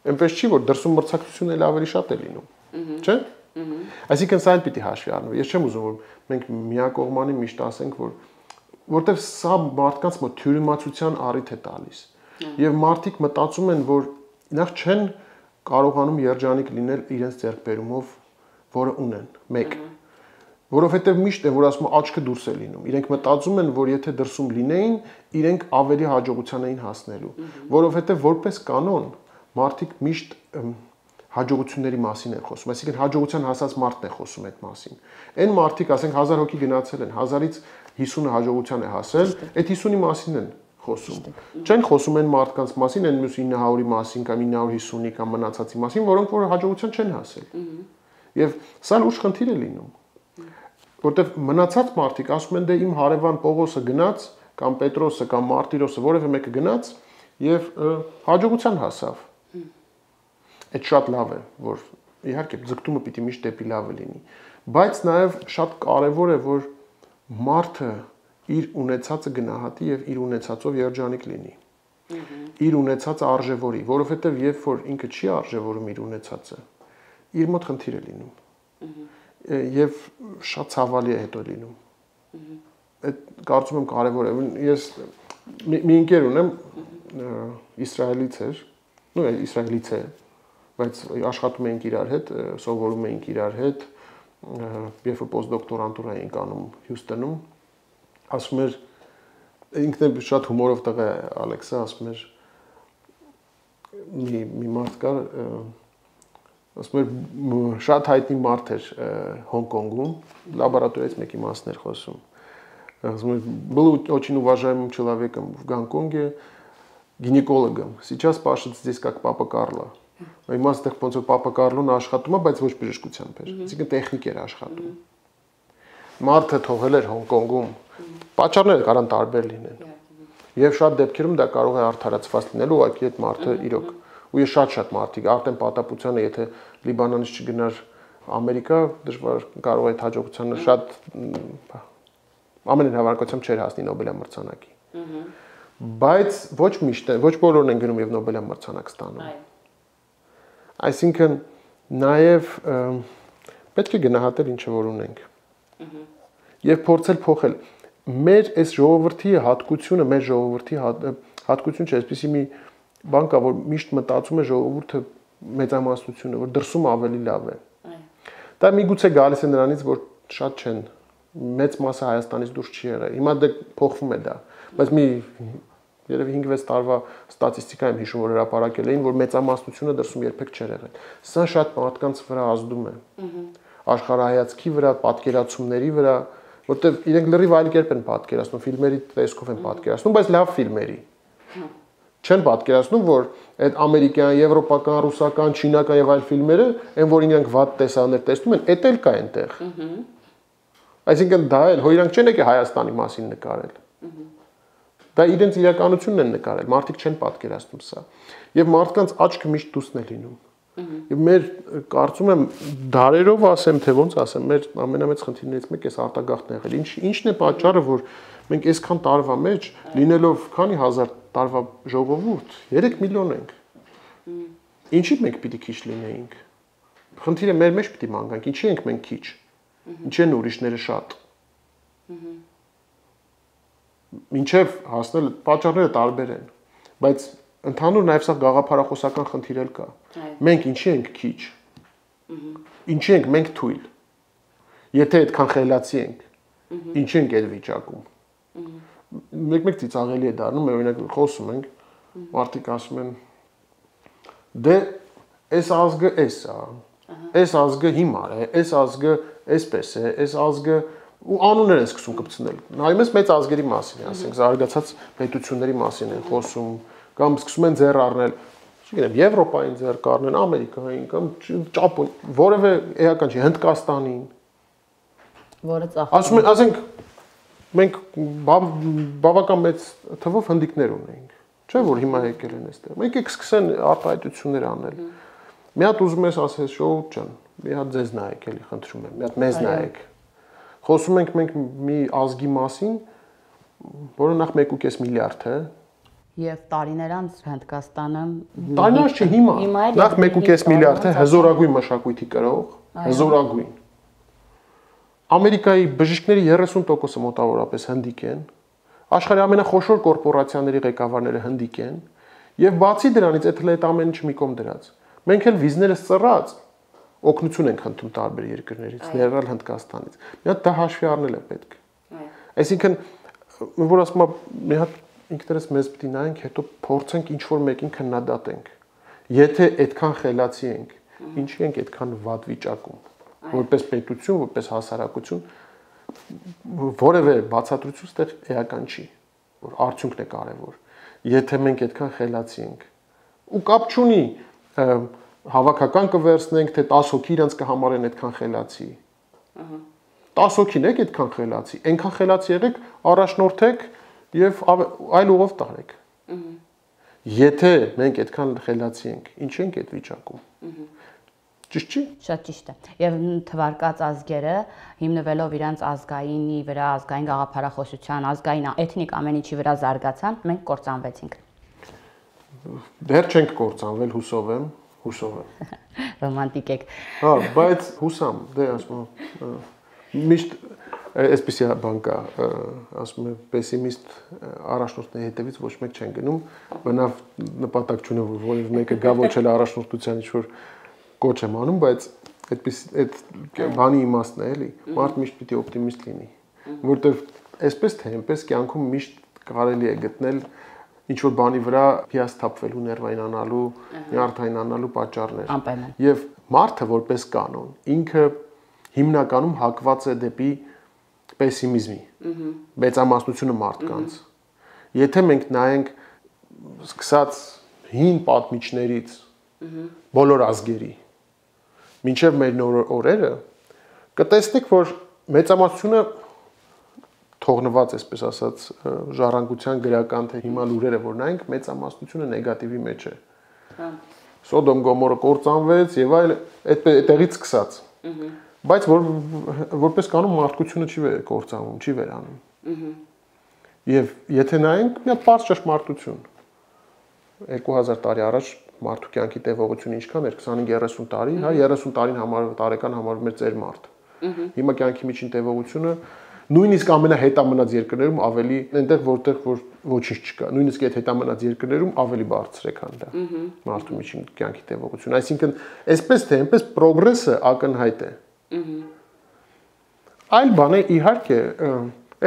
Այնպես չի, որ դրսում մրցակցությունը էլ ավելի շատ է լինում, չէ՞։ Այսինքն սա էլ պիտի հաշվի առնվի։ Ես չեմ ուզում, որ մենք միակողմանի միշտ ասենք, որ որտեվ սա մարդկանց մոտ թյուրիմացության առիթ է տալիս։ Եվ մարդիկ մտածում են, որ նախ չեն կարողանում երջանիկ լինել իրենց ձեռքբերումով, որը ունեն, մեկ։ Որովհետև միշտ է, որ ասում են աչքը դուրս է լինում։ Իրենք մտածում են, որ եթե դրսում լինեին, իրենք ավելի հաջողության էին հասնելու, որովհետև որպես կանոն մարդիկ միշտ հաջողությունների մասին են խոսում, այսինքն հաջողության հասած մարդն է խոսում այդ մասին։ Այն մարդիկ, ասենք հազար հոգի գնացել են, հազարից հիսունը հաջողության է հասել, այդ հիսունի մասին են խոսում։ Չեն խոսում այն մարդկանց մասին, այն մյուս ինը հարյուրի մասին կամ ինը հարյուր հիսունի կամ մնացածի մասին, որոնք որ հաջողության չեն հասել։ Եվ սա լուրջ խնդիր է լինում։ Որտեվ մնացած մարդիկ ասում են, դե իմ հարևան Պողոսը գնաց, կամ Պետրոսը կամ Մարտիրոսը, որևէ մեկը գնաց եւ հաջողության հասավ։ Այդ շատ լավ է, որ իհարկե ձգտումը պիտի միշտ դեպի լավը լինի, բայց նաեւ շատ կարեւոր է, որ մարդը իր ունեցածը գնահատի եւ իր ունեցածով երջանիկ լինի։ իր ունեցածը արժևորի, որովհետև երբ որ ինքը չի արժևորում իր ունեցածը, իր մոտ խնդիր է լինում։ Եվ շատ ցավալի է հետո լինում։ Այդ կարծում եմ կարևոր է։ Ես մի ընկեր ունեմ, իսրայելից էր, նո իսրայելից է, բայց աշխատում էինք իրար հետ, սովորում էինք իրար հետ, երբ որ պոստդոկտորանտուրա էինք անում Հյուսթոնում, ասում էր ինքն էլ շատ հումորով տղա է Ալեքսը, ասում էր մի մի մարդ կար, ասում էր շատ հայտնի մարդ էր Հոնկոնգում, լաբորատորիայից մեկի մասն էր խոսում։ Ասում էր был очень уважаемым человеком в Гонконге, гинекологом. Сейчас пашет здесь как папа Карло. Հիմա այստեղ ոնց որ պապա Կառլոն աշխատում է, բայց ոչ բժշկությամբ էր։ Այսինքն տեխնիկ էր աշխատում։ Մարդը թողել էր Հոնկոնգում։ Պատճառները կարան տարբեր լինեն։ Եվ շատ դեպքերում դա կարող է արդարացված լինել, ուղղակի այդ մարդը իրոք։ Ու ես շատ-շատ մարդիկ, Արտեմ Պատապությանը, եթե Լիբանանից չգնար Ամերիկա, դժվար կարող է այդ հաջողությանը շատ ամեն հավանականությամբ չէր հասնի Նոբելյան մրցանակի։ Բայց ոչ միշտ, ոչ բոլորն են գնում եւ Նոբելյան մրցանակ ստանում։ Այսինքն նաև պետք է գնահատել ինչ որ ունենք եւ փորձել փոխել մեր այս ժողովրդի հատկությունը, մեր ժողովրդի հատկություն չէ, այսպեսի մի բան կա, որ միշտ մտածում է ժողովուրդը մեծամասնությունը, որ դրսում ավելի լավ է։ Դա միգուցե գալիս է նրանից, որ շատ չեն, մեծ մասը Հայաստանից դուրս չի եղել։ Հիմա դե փոխվում է դա, բայց մի երևի հինգ-վեց տարվա ստատիստիկա եմ հիշում, որ հրապարակել էին, որ մեծամասնությունը դրսում երբեք չէր եղել։ Սա շատ մարդկանց վրա ազդում է։ Աշխարհայացքի վրա, պատկերացումների վրա, որտեղ իրենք լրիվ այլ կերպ են պատկերացնում, ֆիլմերի տեսքով են պատկերացնում, բայց լավ ֆիլմերի։ Չեն պատկերացնում, որ այդ ամերիկյան, եվրոպական, ռուսական, չինական եւ այլ ֆիլմերը, այն որ իրենք վատ տեսաններ տեսնում են, էդ էլ կա այնտեղ։ Այսինքն դա էլ, հո իրանք չեն եկել Հայաստանի մասին նկարել։ Դա իրենց իրականությունն են նկարել, մարդիկ չեն պատկերացնում սա։ Եվ մարդկանց աչքը միշտ դուսն է լինում։ Եվ մեր կարծում եմ դարերով ասեմ, թե ոնց ասեմ, մեր ամենամեծ խնդիրներից մեկը էս արտագաղթն եղել։ Ինչ ինչն է պատճառը, որ մենք այսքան տարվա մեջ լինելով քանի հազար տարվա ժողովուրդ, երեք միլիոն ենք։ Ինչի մենք պիտի քիչ լինեինք։ Խնդիրը մեր մեջ պիտի մանգանք, ինչի ենք մենք քիչ։ Ինչի են ուրիշները շատ։ Մինչև հասնել պատճառները տարբեր են, բայց ընդհանուր նաև սա գաղափարախոսական խնդիր էլ կա։ Մենք ինչի ենք քիչ։ Ինչի ենք մենք թույլ։ Եթե այդքան խելացի ենք, ինչի ենք այդ վիճակում։ Մեկ-մեկ ծիծաղելի է դառնում, օրինակ խոսում ենք, մարդիկ ասում են դե այս ազգը էս է, այս ազգը հիմար է, այս ազգը այսպես է, այս ազգը ու անուններ են սկսում կպցնել։ Նայում ես մեծ ազգերի մասին, ասենք զարգացած պետությունների մասին են խոսում, կամ սկսում են ձեռ առնել, չգիտեմ, Եվրոպային ձեռ կառնեն, Ամերիկային կամ Ճապոն, որևէ էական չի, Հնդկաստանին։ Որը ծախսում։ Ասում են, ասենք մենք բավական մեծ թվով հնդիկներ ունենք, չէ՞ որ հիմա եկել են այստեղ։ Մենք եք սկսեն արտահայտություններ անել։ Մի հատ ուզում ես ասես շոուտ ջան, մի հատ ձեզ նայեք էլի, խնդրում եմ, մի հատ մեզ նայեք։ Խոսում ենք մենք մի ազգի մասին, որը նախ մեկ ու կես միլիարդ է։ Եվ տարիներ անց Հնդկաստանը տարիներ չի հիմա։ Նախ մեկ ու կես միլիարդ է հզորագույն մշակույթի կրող, հզորագույն։ Ամերիկայի բժիշկների երեսուն տոկոսը մոտավորապես հնդիկ են։ Աշխարհի ամենախոշոր կորպորացիաների ղեկավարները հնդիկ են, եւ բացի դրանից այդ հենց ամեն ինչ մի կողմ դրած։ Մենք էլ վիզները ծռած օգնություն ենք խնդրում տարբեր երկրներից, ներառյալ Հնդկաստանից։ Մի հատ դա հաշվի առնել է պետք։ Այսինքն, որ ասում եմ, մի հատ ինքներս մեզ պիտի նայենք, հետո փորձենք ինչ որ մեկին քննադատենք։ Եթե այդքան խելացի ենք, ինչի ենք այդքան վատ վիճակում, որպես պետություն, որպես հասարակություն, որևէ բացատրություն ստեղ էական չի, որ արդյունքն է կարևոր։ Եթե մենք այդքան խելացի ենք, ու կապ չունի հավաքական կվերցնենք, թե տասը հոգի իրենց կհամարեն այդքան խելացի։ տասը հոգին եք այդքան խելացի, այնքան խելացի եղեք, առաջնորդեք եւ այլ ուղով տարեք։ Եթե մենք այդքան խելացի ենք, ինչ ենք այդ վիճակում։ Ճիշտ չի։ Շատ ճիշտ է։ Եվ թվարկած ազգերը հիմնվելով իրենց ազգայինի վրա, ազգային գաղափարախոսության, ազգային էթնիկ ամեն ինչի վրա զարգացան, մենք կործանվեցինք։ դեռ չենք կործանվել, հուսով եմ, հուսով եմ։ Ռոմանտիկ եք։ Հա, բայց հուսամ, դե ասում եմ, միշտ այսպեսի բան կա, ասում եմ, պեսիմիստ առաջնորդների հետևից ոչ մեկ չեն գնում, բնավ նպատակ չունեմ, որ որևէ մեկը գա ոչ էլ առաջնորդության ինչ-որ կոչ եմ անում, բայց այդպես այդ բանի իմաստն է, էլի, մարդ միշտ պիտի օպտիմիստ լինի, որտեղ այսպես թե այնպես կյանքում միշտ կարելի է գտնել ինչ-որ բանի վրա հիասթափվելու, ներվայնանալու, նյարդայնանալու պատճառներ։ Անպայման։ Եվ մարդը որպես կանոն, ինքը հիմնականում հակված է դեպի պեսիմիզմի, մեծամասնությունը մարդկանց։ Եթե մենք նայենք սկսած հին պատմիչներից, բոլոր ազգերի, մինչև մեր նոր օրերը, կտեսնեք, որ մեծամասնությունը թողնված, այսպես ասած, ժառանգության գրական թե հիմա լուրերը որ նայենք, մեծամասնությունը նեգատիվի մեջ է։ Սոդոմ Գոմորը կործանվեց եւ այլ այդտեղից սկսած։ Բայց որ որպես կանոն մարդկությունը չի կործանվում, չի վերանում։ Եվ եթե նայենք, մի հատ բարձր ճշմարտություն։ երկու հազար տարի առաջ մարդու կյանքի տևողությունը ինչքան էր, քսանհինգ երեսուն տարի, հա, երեսուն տարին համար տարեկան համարվում էր ծեր մարդ։ Հիմա կյանքի միջին տևողությունը նույնիսկ ամենահետամնաց երկրներում ավելի այնտեղ որտեղ որ ոչինչ չկա, նույնիսկ այդ հետամնաց երկրներում ավելի բարձր է, քան դա մարդու միջին կյանքի տևողությունը, այսինքն այսպես թե այնպես պրոգրեսը ակնհայտ է։ Այլ բան է իհարկե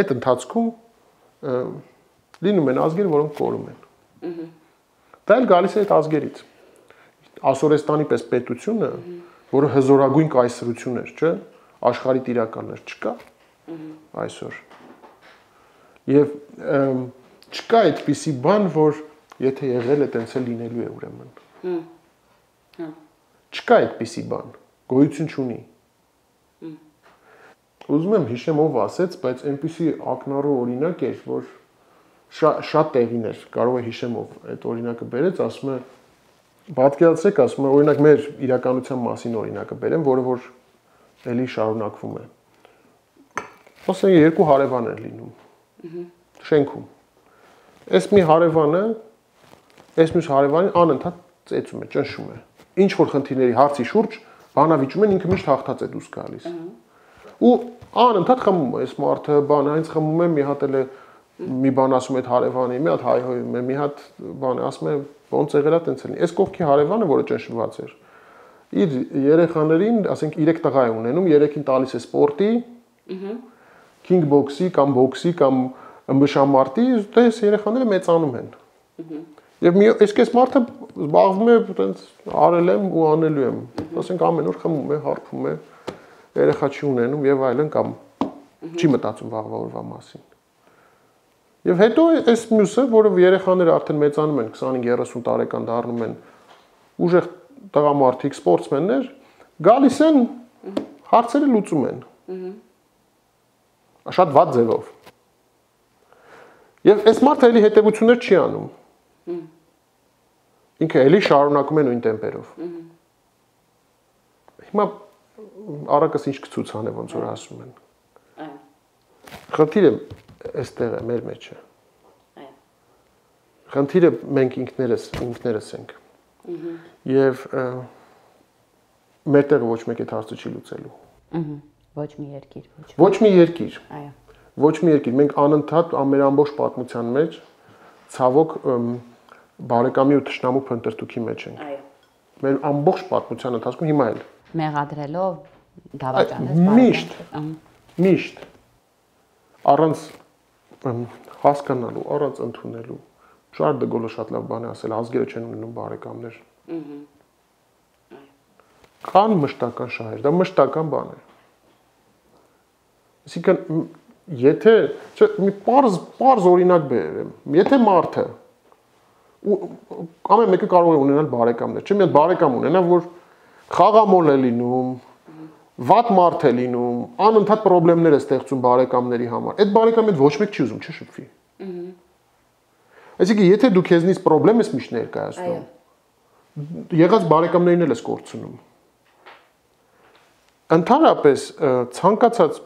այդ ընթացքում լինում են ազգեր, որոնք կորում են։ Դա էլ գալիս է այդ ազգերից։ Ասորեստանի պես պետությունը, որը հզորագույն կայսրություն էր, չէ, աշխարհի տիրականներ չկա այսօր։ Եվ չկա այդպիսի բան, որ եթե եղել է, տենց էլ լինելու է ուրեմն։ Չկա այդպիսի բան, գոյություն չունի։ Ուզում եմ հիշեմ ով ասեց, բայց այնպիսի ակնառու օրինակ էր, որ շատ տեղին էր, կարող է հիշեմ ով այդ օրինակը բերեց, ասում է, պատկերացրեք, ասում է, օրինակ մեր իրականության մասին օրինակը բերեմ, որը որ էլի շարունակվում է։ Ասենք երկու հարևան են լինում շենքում։ Այս մի հարևանը, այս մյուս հարևանին անընդհատ ծեծում է, ճնշում է։ Ինչ որ խնդիրների հարցի շուրջ բանավիճում են, ինքը միշտ հաղթած է դուրս գալիս։ Ու անընդհատ խմում է, այս մարդը բան, այնց խմում է, մի հատ էլ է մի բան ասում է այդ հարևանի, մի հատ հայհոյում է, մի հատ բան ասում է, ոնց եղել է, տենց էլի։ Այս կողքի հարևանը, որը ճնշված էր, իր երեխաներին, ասենք երեք տղա է ունենում, երեքին տալիս է սպորտի, քինգ բոքսի կամ բոքսի կամ ըմբշամարտի, այս երեխաները մեծանում են։ Եվ մի այսպես մարդը զբաղվում է, տենց արել եմ ու անելու եմ։ Ասենք ամեն օր խմում է, հարբում է, երեխա չի ունենում եւ այլն կամ չի մտածում վաղվա օրվա մասին։ Եվ հետո այս մյուսը, որը երեխաները արդեն մեծանում են, քսանհինգ երեսուն տարեկան դառնում են, ուժեղ տղամարդիկ, սպորտսմեններ, գալիս են, հարցերը լուծում են։ Շատ վատ ձևով։ Եվ այս մարդը էլի հետևություններ չի անում։ Ինքը էլի շարունակում է նույն տեմպերով։ Հիմա առակս ինչ կցուցանե, ոնց որ ասում են։ Խնդիրը այստեղ է, մեր մեջ է։ Խնդիրը մենք ինքներս, ինքներս ենք։ Եվ մեր տեղը ոչ մեկ այդ հարցը չի լուծելու։ Ոչ մի երկիր, ոչ մի երկիր։ Այո։ Ոչ մի երկիր, մենք անընդհատ մեր ամբողջ պատմության մեջ ցավոք բարեկամի ու թշնամու փնտրտուքի մեջ ենք։ Այո։ Մեր ամբողջ պատմության ընթացքում հիմա էլ Մեղադրելով դավաճանես միշտ, միշտ առանց հասկանալու, առանց ընդունելու։ Շարլ դե Գոլը շատ լավ բան է ասել, ազգերը չեն ունենում բարեկամներ։ Կան մշտական շահեր, դա մշտական բան է։ Այսինքն եթե, չէ, մի պարզ, պարզ օրինակ բերեմ, եթե մարդը ամեն մեկը կարող է ունենալ բարեկամներ, չէ, մի հատ բարեկամ ունենա, որ խաղամոլ է լինում, վատ մարդ է լինում, անընդհատ խնդիրներ է ստեղծում բարեկամների համար։ Այդ բարեկամը ոչ մեկ չի ուզում չշփվի։ Այսինքն եթե դու քեզնից խնդրեմ ես միշտ ներկայացնում, եղած բարեկամներին էլ ես կորցնում։ Ընդհանրապես ցանկացած,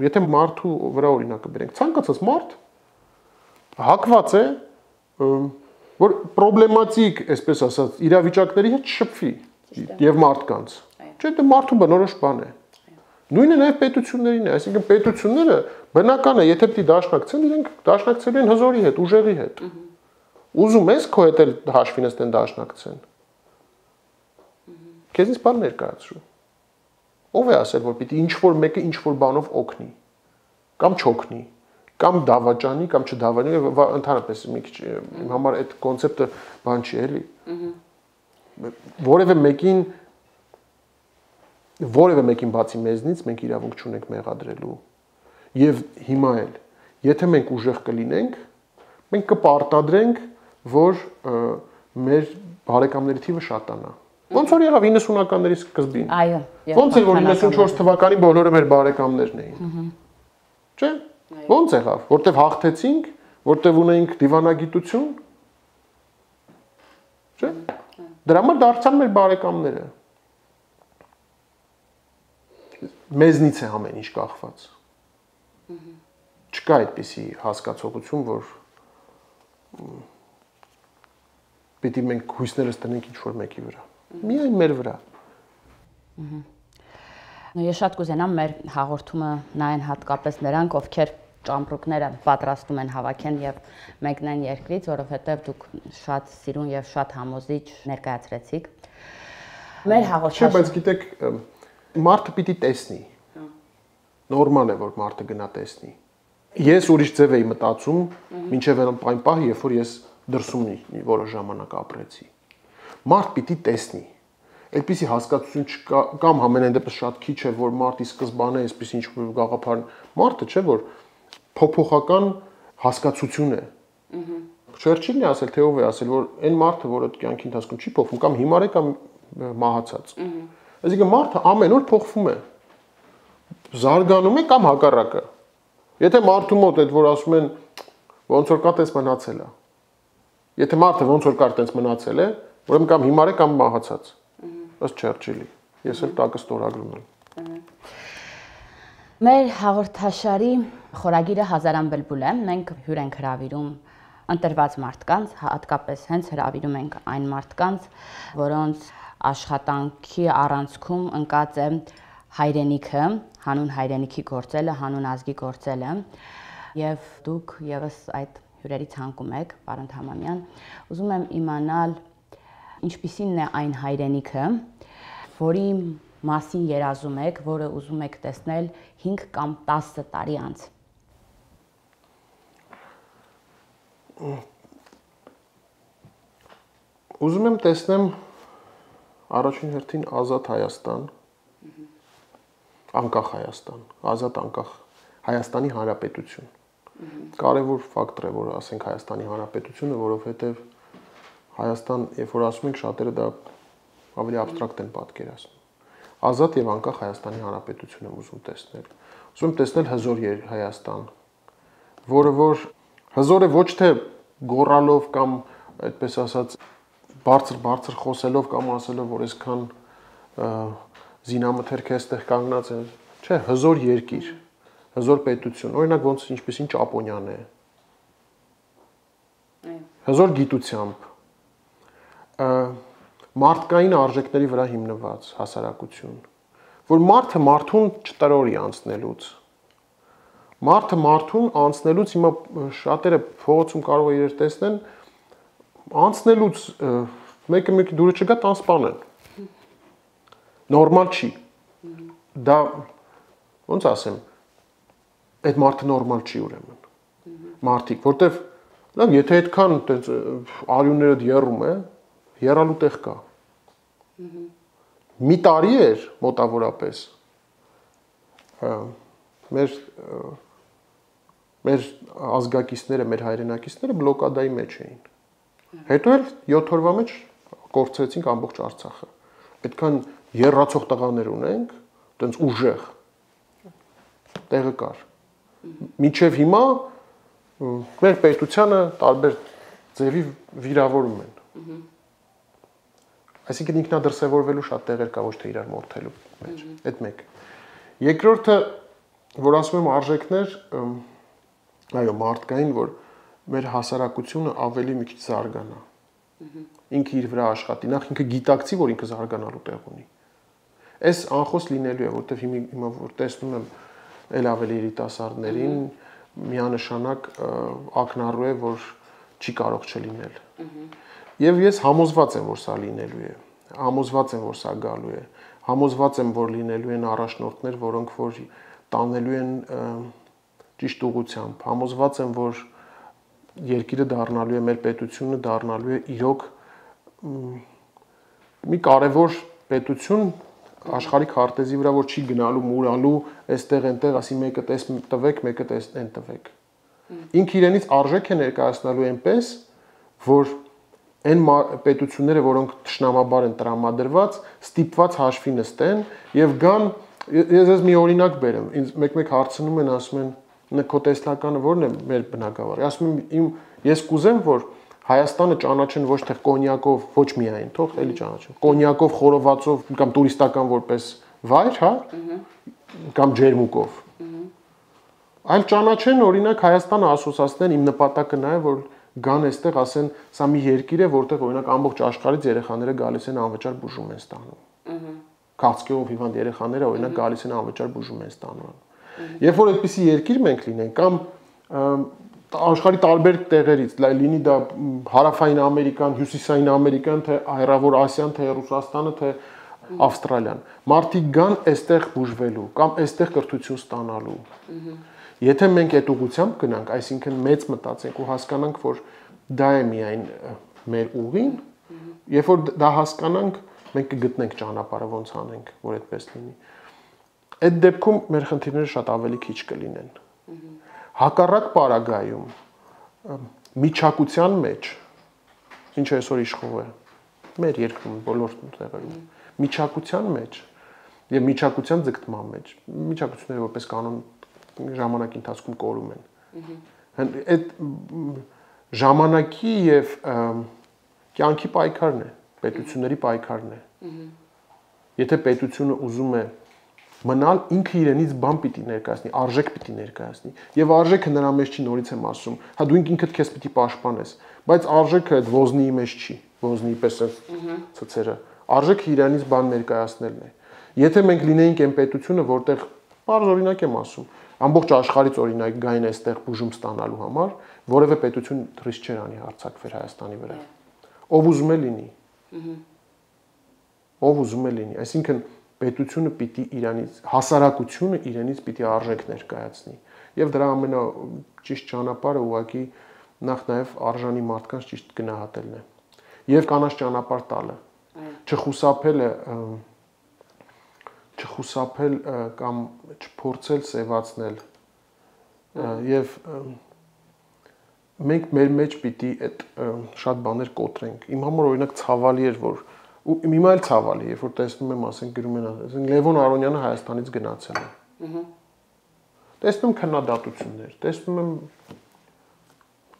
եթե մարդու վրա օրինակը բերենք, ցանկացած մարդ հակված է որ պրոբլեմատիկ, այսպես ասած, իրավիճակների հետ շփվի եւ մարդկանց։ Չէ, դա մարդու բնորոշ բան է։ Նույնը նաեւ պետություններին է, այսինքն պետությունները բնական է, եթե պիտի դաշնակցեն, իրենք դաշնակցելու են հզորի հետ, ուժերի հետ։ Ուզում ես քո հետ էլ հաշվի նստեն դաշնակցեն։ Քեզից բան ներկայացրու։ Ով է ասել, որ պիտի ինչ որ մեկը ինչ որ բանով օգնի կամ չօգնի, կամ դավաճանի, կամ չդավաճանի, ընդհանրապես մի քիչ իմ համար այդ կոնցեպտը բան չի էլի։ Որևէ մեկին որևէ մեկին բացի մեզնից մենք իրավունք չունենք մեղադրելու։ Եվ հիմա էլ, եթե մենք ուժեղ կլինենք, մենք կպարտադրենք, որ մեր բարեկամների թիվը շատանա։ Ոնց որ եղավ իննսունականների սկզբին։ Այո։ Ոնց էր որ իննսունչորս թվականին բոլորը մեր բարեկամներն էին։ Չէ՞։ Ոնց եղավ, որտեվ հաղթեցինք, որտեվ ունեինք դիվանագիտություն։ Չէ՞։ Դրա համար դարձան մեր բարեկամները։ Մեզնից է ամեն ինչ կախված։ Չկա այդպիսի հասկացողություն, որ պիտի մենք հույսներս տնենք ինչ-որ մեկի վրա։ Միայն մեր վրա։ Ես շատ կուզենամ մեր հաղորդումը նայեն հատկապես նրանք, ովքեր ճամպրուկները պատրաստում են հավաքեն եւ մեկնեն երկրից, որովհետեւ դուք շատ սիրուն եւ շատ համոզիչ ներկայացրեցիք։ Մեր հաղորդումը։ Չէ, բայց գիտեք, մարդը պիտի տեսնի։ Նորմալ է, որ մարդը գնա տեսնի։ Ես ուրիշ ձև էի մտածում, մինչև այն պահը, երբ որ ես դրսում որոշ ժամանակ ապրեցի։ Մարդ պիտի տեսնի։ Այդպիսի հասկացություն չկա, կամ ամենայն դեպս շատ քիչ է, որ մարդի սկզբանե այսպես ինչ-որ գաղափար, մարդը չէ, որ փոփոխական հասկացություն է։ Չերչիլն է ասել, թե ով է ասել, որ այն մարդը, որը կյանքի ընթացքում չի փոխվում, կամ հիմար է, կամ մահացած։ Այսինքն մարդը ամեն օր փոխվում է։ Զարգանում է կամ հակառակը։ Եթե մարդու մոտ այդ որ ասում են ոնց որ կա տես մնացել է։ Եթե մարդը ոնց որ կար տես մնացել է, ուրեմն կամ հիմար է կամ մահացած։ Ըստ Չերչիլի։ Ես էլ տակը ստորագրում եմ։ Մեր հաղորդաշարի խորագիրը հազարան բլբուլ է։ Մենք հյուր ենք հրավիրում ընտրված մարդկանց, հատկապես հենց հրավիրում ենք այն մարդկանց, որոնց աշխատանքի առանցքում ընկած է հայրենիքը, հանուն հայրենիքի գործելը, հանուն ազգի գործելը, եւ դուք եւս այդ հյուրերի ցանկում եք, պարոն Թամանյան, ուզում եմ իմանալ ինչպիսին է այն հայրենիքը, որի մասին երազում եք, որը ուզում եք տեսնել հինգ կամ տասը տարի անց։ Ուզում եմ տեսնեմ առաջին հերթին ազատ Հայաստան, անկախ Հայաստան, ազատ անկախ Հայաստանի Հանրապետություն։ Կարևոր ֆակտոր է, որ ասենք Հայաստանի Հանրապետությունը, որովհետև Հայաստան, երբ որ ասում ենք, շատերը դա ավելի абստրակտ են պատկերացնում։ Ազատ եւ անկախ Հայաստանի Հանրապետություն եմ ուզում տեսնել։ Ուզում եմ տեսնել հզոր Հայաստան, որը որ հզոր է ոչ թե գոռալով կամ այդպես ասած բարձր-բարձր խոսելով կամ ասելով, որ այսքան զինամթերքը այստեղ կանգնած է, չէ, հզոր երկիր, հզոր պետություն, օրինակ ոնց ինչպեսին Ճապոնիան է։ Հզոր գիտությամբ, մարդկային արժեքների վրա հիմնված հասարակություն, որ մարդը մարդուն չտրորի անցնելուց։ Մարդը մարդուն անցնելուց հիմա շատերը փողոցում կարող է իրեր տեսնեն, անցնելուց մեկը մեկի դուրը չգա տան սպանեն։ Նորմալ չի։ Դա ոնց ասեմ, այդ մարդը նորմալ չի ուրեմն։ Մարդիկ, որտեվ լավ, եթե այդքան տենց արյունները եռում է, եռալու տեղ կա։ Մի տարի էր մոտավորապես մեր մեր ազգակիցները, մեր հայրենակիցները բլոկադայի մեջ էին։ Հետո էլ յոթ օրվա մեջ կորցրեցինք ամբողջ Արցախը։ Այդքան եռացող տղաներ ունենք, տենց ուժեղ տեղը կար։ Մինչև հիմա մեր պետությանը տարբեր ձևի վիրավորում են։ Այսինքն ինքնադրսևորվելու շատ տեղեր կա, ոչ թե իրար մորթելու մեջ։ Այդ մեկ։ Երկրորդը, որ ասում եմ արժեքներ, այո, մարդկային, որ մեր հասարակությունը ավելի մի քիչ զարգանա։ Ինքը իր վրա աշխատի, նախ ինքը գիտակցի, որ ինքը զարգանալու տեղ ունի։ Այս անխոս լինելու է, որտեղ հիմա որ տեսնում եմ ել ավելի երիտասարդներին, միանշանակ ակնառու է, որ չի կարող չլինել։ Եվ ես համոզված եմ, որ սա լինելու է։ Համոզված եմ, որ սա գալու է։ Համոզված եմ, որ լինելու են առաջնորդներ, որոնք որ տանելու են ճիշտ ուղղությամբ։ Համոզված եմ, որ երկիրը դառնալու է, մեր պետությունը դառնալու է իրոք մի կարևոր պետություն աշխարհի քարտեզի վրա, որ չի գնալու, մուրալու, այստեղ այնտեղ, ասի մեկը տես տվեք, մեկը տես այն տվեք։ Ինքը իրենից արժեք է ներկայացնալու այնպես, որ այն պետությունները, որոնք թշնամաբար են տրամադրված, ստիպված հաշվի նստեն եւ գան, ես ես մի օրինակ բերեմ, ինձ մեկ-մեկ հարցնում են, ասում են, քո տեսլականը ո՞րն է մեր բնակավարի։ Ասում եմ, իմ ես կուզեմ, որ Հայաստանը ճանաչեն ոչ թե կոնյակով, ոչ միայն, թող էլի ճանաչեն, կոնյակով, խորովածով կամ տուրիստական որպես վայր, հա, կամ ջերմուկով։ Այլ ճանաչեն, օրինակ Հայաստանը ասոցացնեն, իմ նպատակը նա է, որ գան այստեղ ասեն, սա մի երկիր է, որտեղ օրինակ ամբողջ աշխարհից երեխաները գալիս են անվճար բուժում են ստանում։ Քաղցկեղով հիվանդ երեխաները օրինակ գալիս են անվճար բուժում են ստանում։ Երբ որ այդպիսի երկիր մենք լինենք, կամ աշխարհի տարբեր տեղերից, լինի դա հարավային Ամերիկան, հյուսիսային Ամերիկան, թե Հարավային Ասիան, թե Ռուսաստանը, թե Ավստրալիան, մարդիկ գան այստեղ բուժվելու կամ այստեղ կրթություն ստանալու։ Եթե մենք այդ ուղղությամբ գնանք, այսինքն մեծ մտածենք ու հասկանանք, որ դա է միայն մեր ուղին, երբ որ դա հասկանանք, մենք կգտնենք ճանապարհը ոնց անենք, որ այդպես լինի։ Այդ դեպքում մեր խնդիրները շատ ավելի քիչ կլինեն։ Հակառակ պարագայում միջակության մեջ, ինչը այսօր իշխող է, մեր երկրում բոլոր տեղերում, միջակության մեջ եւ միջակության ձգտման մեջ, միջակությունները որպես կանոն ժամանակի ընթացքում կորում են։ Այդ ժամանակի եւ կյանքի պայքարն է, պետությունների պայքարն է։ Եթե պետությունը ուզում է մնալ, ինքը իրենից բան պիտի ներկայացնի, արժեք պիտի ներկայացնի։ Եվ արժեքը նրա մեջ չի, նորից եմ ասում, հա դու ինքդ քեզ պիտի պաշտպանես, բայց արժեքը այդ ոզնիի մեջ չի, ոզնիի պես է ցցերը։ Արժեքը իրենից բան ներկայացնելն է։ Եթե մենք լինեինք այն պետությունը, որտեղ բարձ օրինակ եմ ասում, ամբողջ աշխարհից օրինակ գային այստեղ բուժում ստանալու համար, որևէ պետություն թռիչ չէր անի հարձակվեր Հայաստանի վրա։ Ով ուզում է լինի։ Ով ուզում է լինի, այսինքն պետությունը պիտի իրանից, հասարակությունը իրենից պիտի արժեք ներկայացնի։ Եվ դրա ամենաճիշտ ճանապարհը ուղղակի նախ նաև արժանի մարդկանց ճիշտ գնահատելն է։ Եվ կանաչ ճանապարհ տալը։ Չխուսափելը, չխուսափել կամ չփորձել սևացնել։ Եվ մենք մեր մեջ պիտի այդ շատ բաներ կոտրենք։ Իմ համար օրինակ ցավալի էր, որ ու հիմա էլ ցավալի, երբ որ տեսնում եմ, ասենք գրում են, ասենք Լևոն Արոնյանը Հայաստանից գնացել է։ Տեսնում եմ քննադատություններ, տեսնում եմ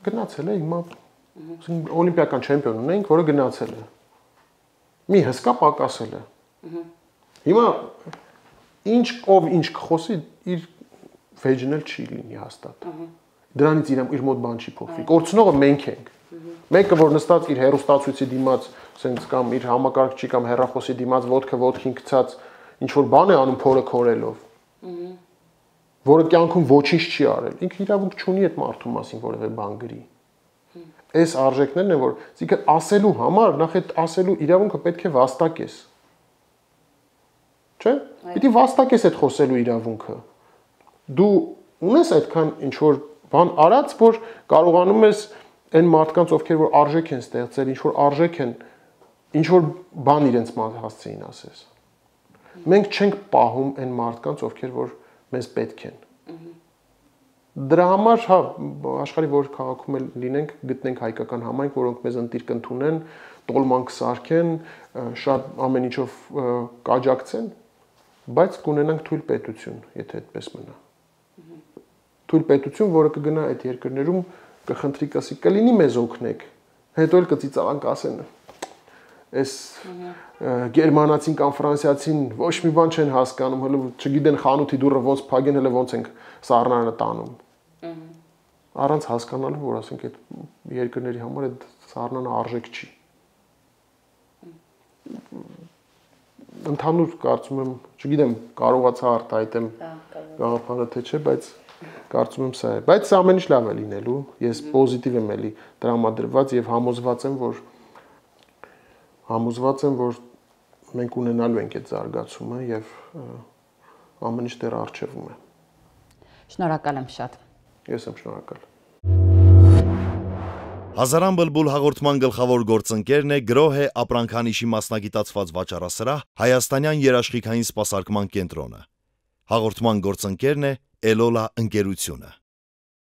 գնացել է հիմա, ասենք օլիմպիական չեմպիոն ունենք, որը գնացել է։ Մի հսկա պակասել է։ Հիմա ինչ ով ինչ կխոսի, իր վեճնել չի լինի հաստատ։ Դրանից իր իր մոտ բան չի փոխվի։ Կորցնողը մենք ենք։ Մեկը որ նստած իր հերոստացույցի դիմաց, ասենք կամ իր համակարգչի կամ հեռախոսի դիմաց ոդկը ոդքին գցած ինչ որ բան է անում փորը քորելով, որը կյանքում ոչինչ չի արել, ինքը իրավունք չունի այդ մարդու մասին որևէ բան գրի։ Այս արժեքներն են, որ ցիկը ասելու համար նախ այդ ասելու իրավունքը պետք է վաստակես։ Չէ՞։ Պիտի վաստակես այդ խոսելու իրավունքը։ Դու ունես այդքան ինչ որ բան արած, որ կարողանում ես այն մարդկանց, ովքեր որ արժեք են ստեղծել, ինչ որ արժեք են, ինչ որ բան իրենց հասցեին ասես։ Մենք չենք պահում այն մարդկանց, ովքեր որ մեզ պետք են։ Դրա համար, հա, աշխարհի որ քաղաքում էլ լինենք, գտնենք հայկական համայնք, որոնք մեզ ընտիր կընդունեն, տոլման կսարքեն, շատ ամեն ինչով կաջակցեն, բայց կունենանք թույլ պետություն, եթե այդպես մնա։ Թույլ պետություն, որը կգնա այդ երկրներում, կխնդրի կասի, կլինի մեզ օգնեք, հետո էլ կծիծաղանք ասեն, այս գերմանացին կամ ֆրանսիացին ոչ մի բան չեն հասկանում, հələ չգիտեն խանութի դուռը ոնց փակեն, հələ ոնց ենք սառնանը տանում։ առանց հասկանալու, որ ասենք այդ երկրների համար այդ սառնանը արժեք չի։ Ընդհանուր կարծում եմ, չգիտեմ, կարողացա արտահայտեմ գաղափարը թե չէ, բայց կարծում եմ սա է։ Բայց սա ամեն ինչ լավ է լինելու։ Ես պոզիտիվ եմ էլի տրամադրված եւ համոզված եմ, որ համոզված եմ, որ մենք ունենալու ենք այդ զարգացումը եւ ամեն ինչ դեռ առջևում է։ Շնորհակալ եմ շատ։ Ես եմ շնորհակալ։ Հազարան բլբուլ հաղորդման գլխավոր գործընկերն է գրոհե ապրանքանիշի մասնագիտացված վաճառասրահ Հայաստանյան երաշխիքային սպասարկման կենտրոնը։ Հաղորդման գործընկերն է Էլոլա ընկերությունը։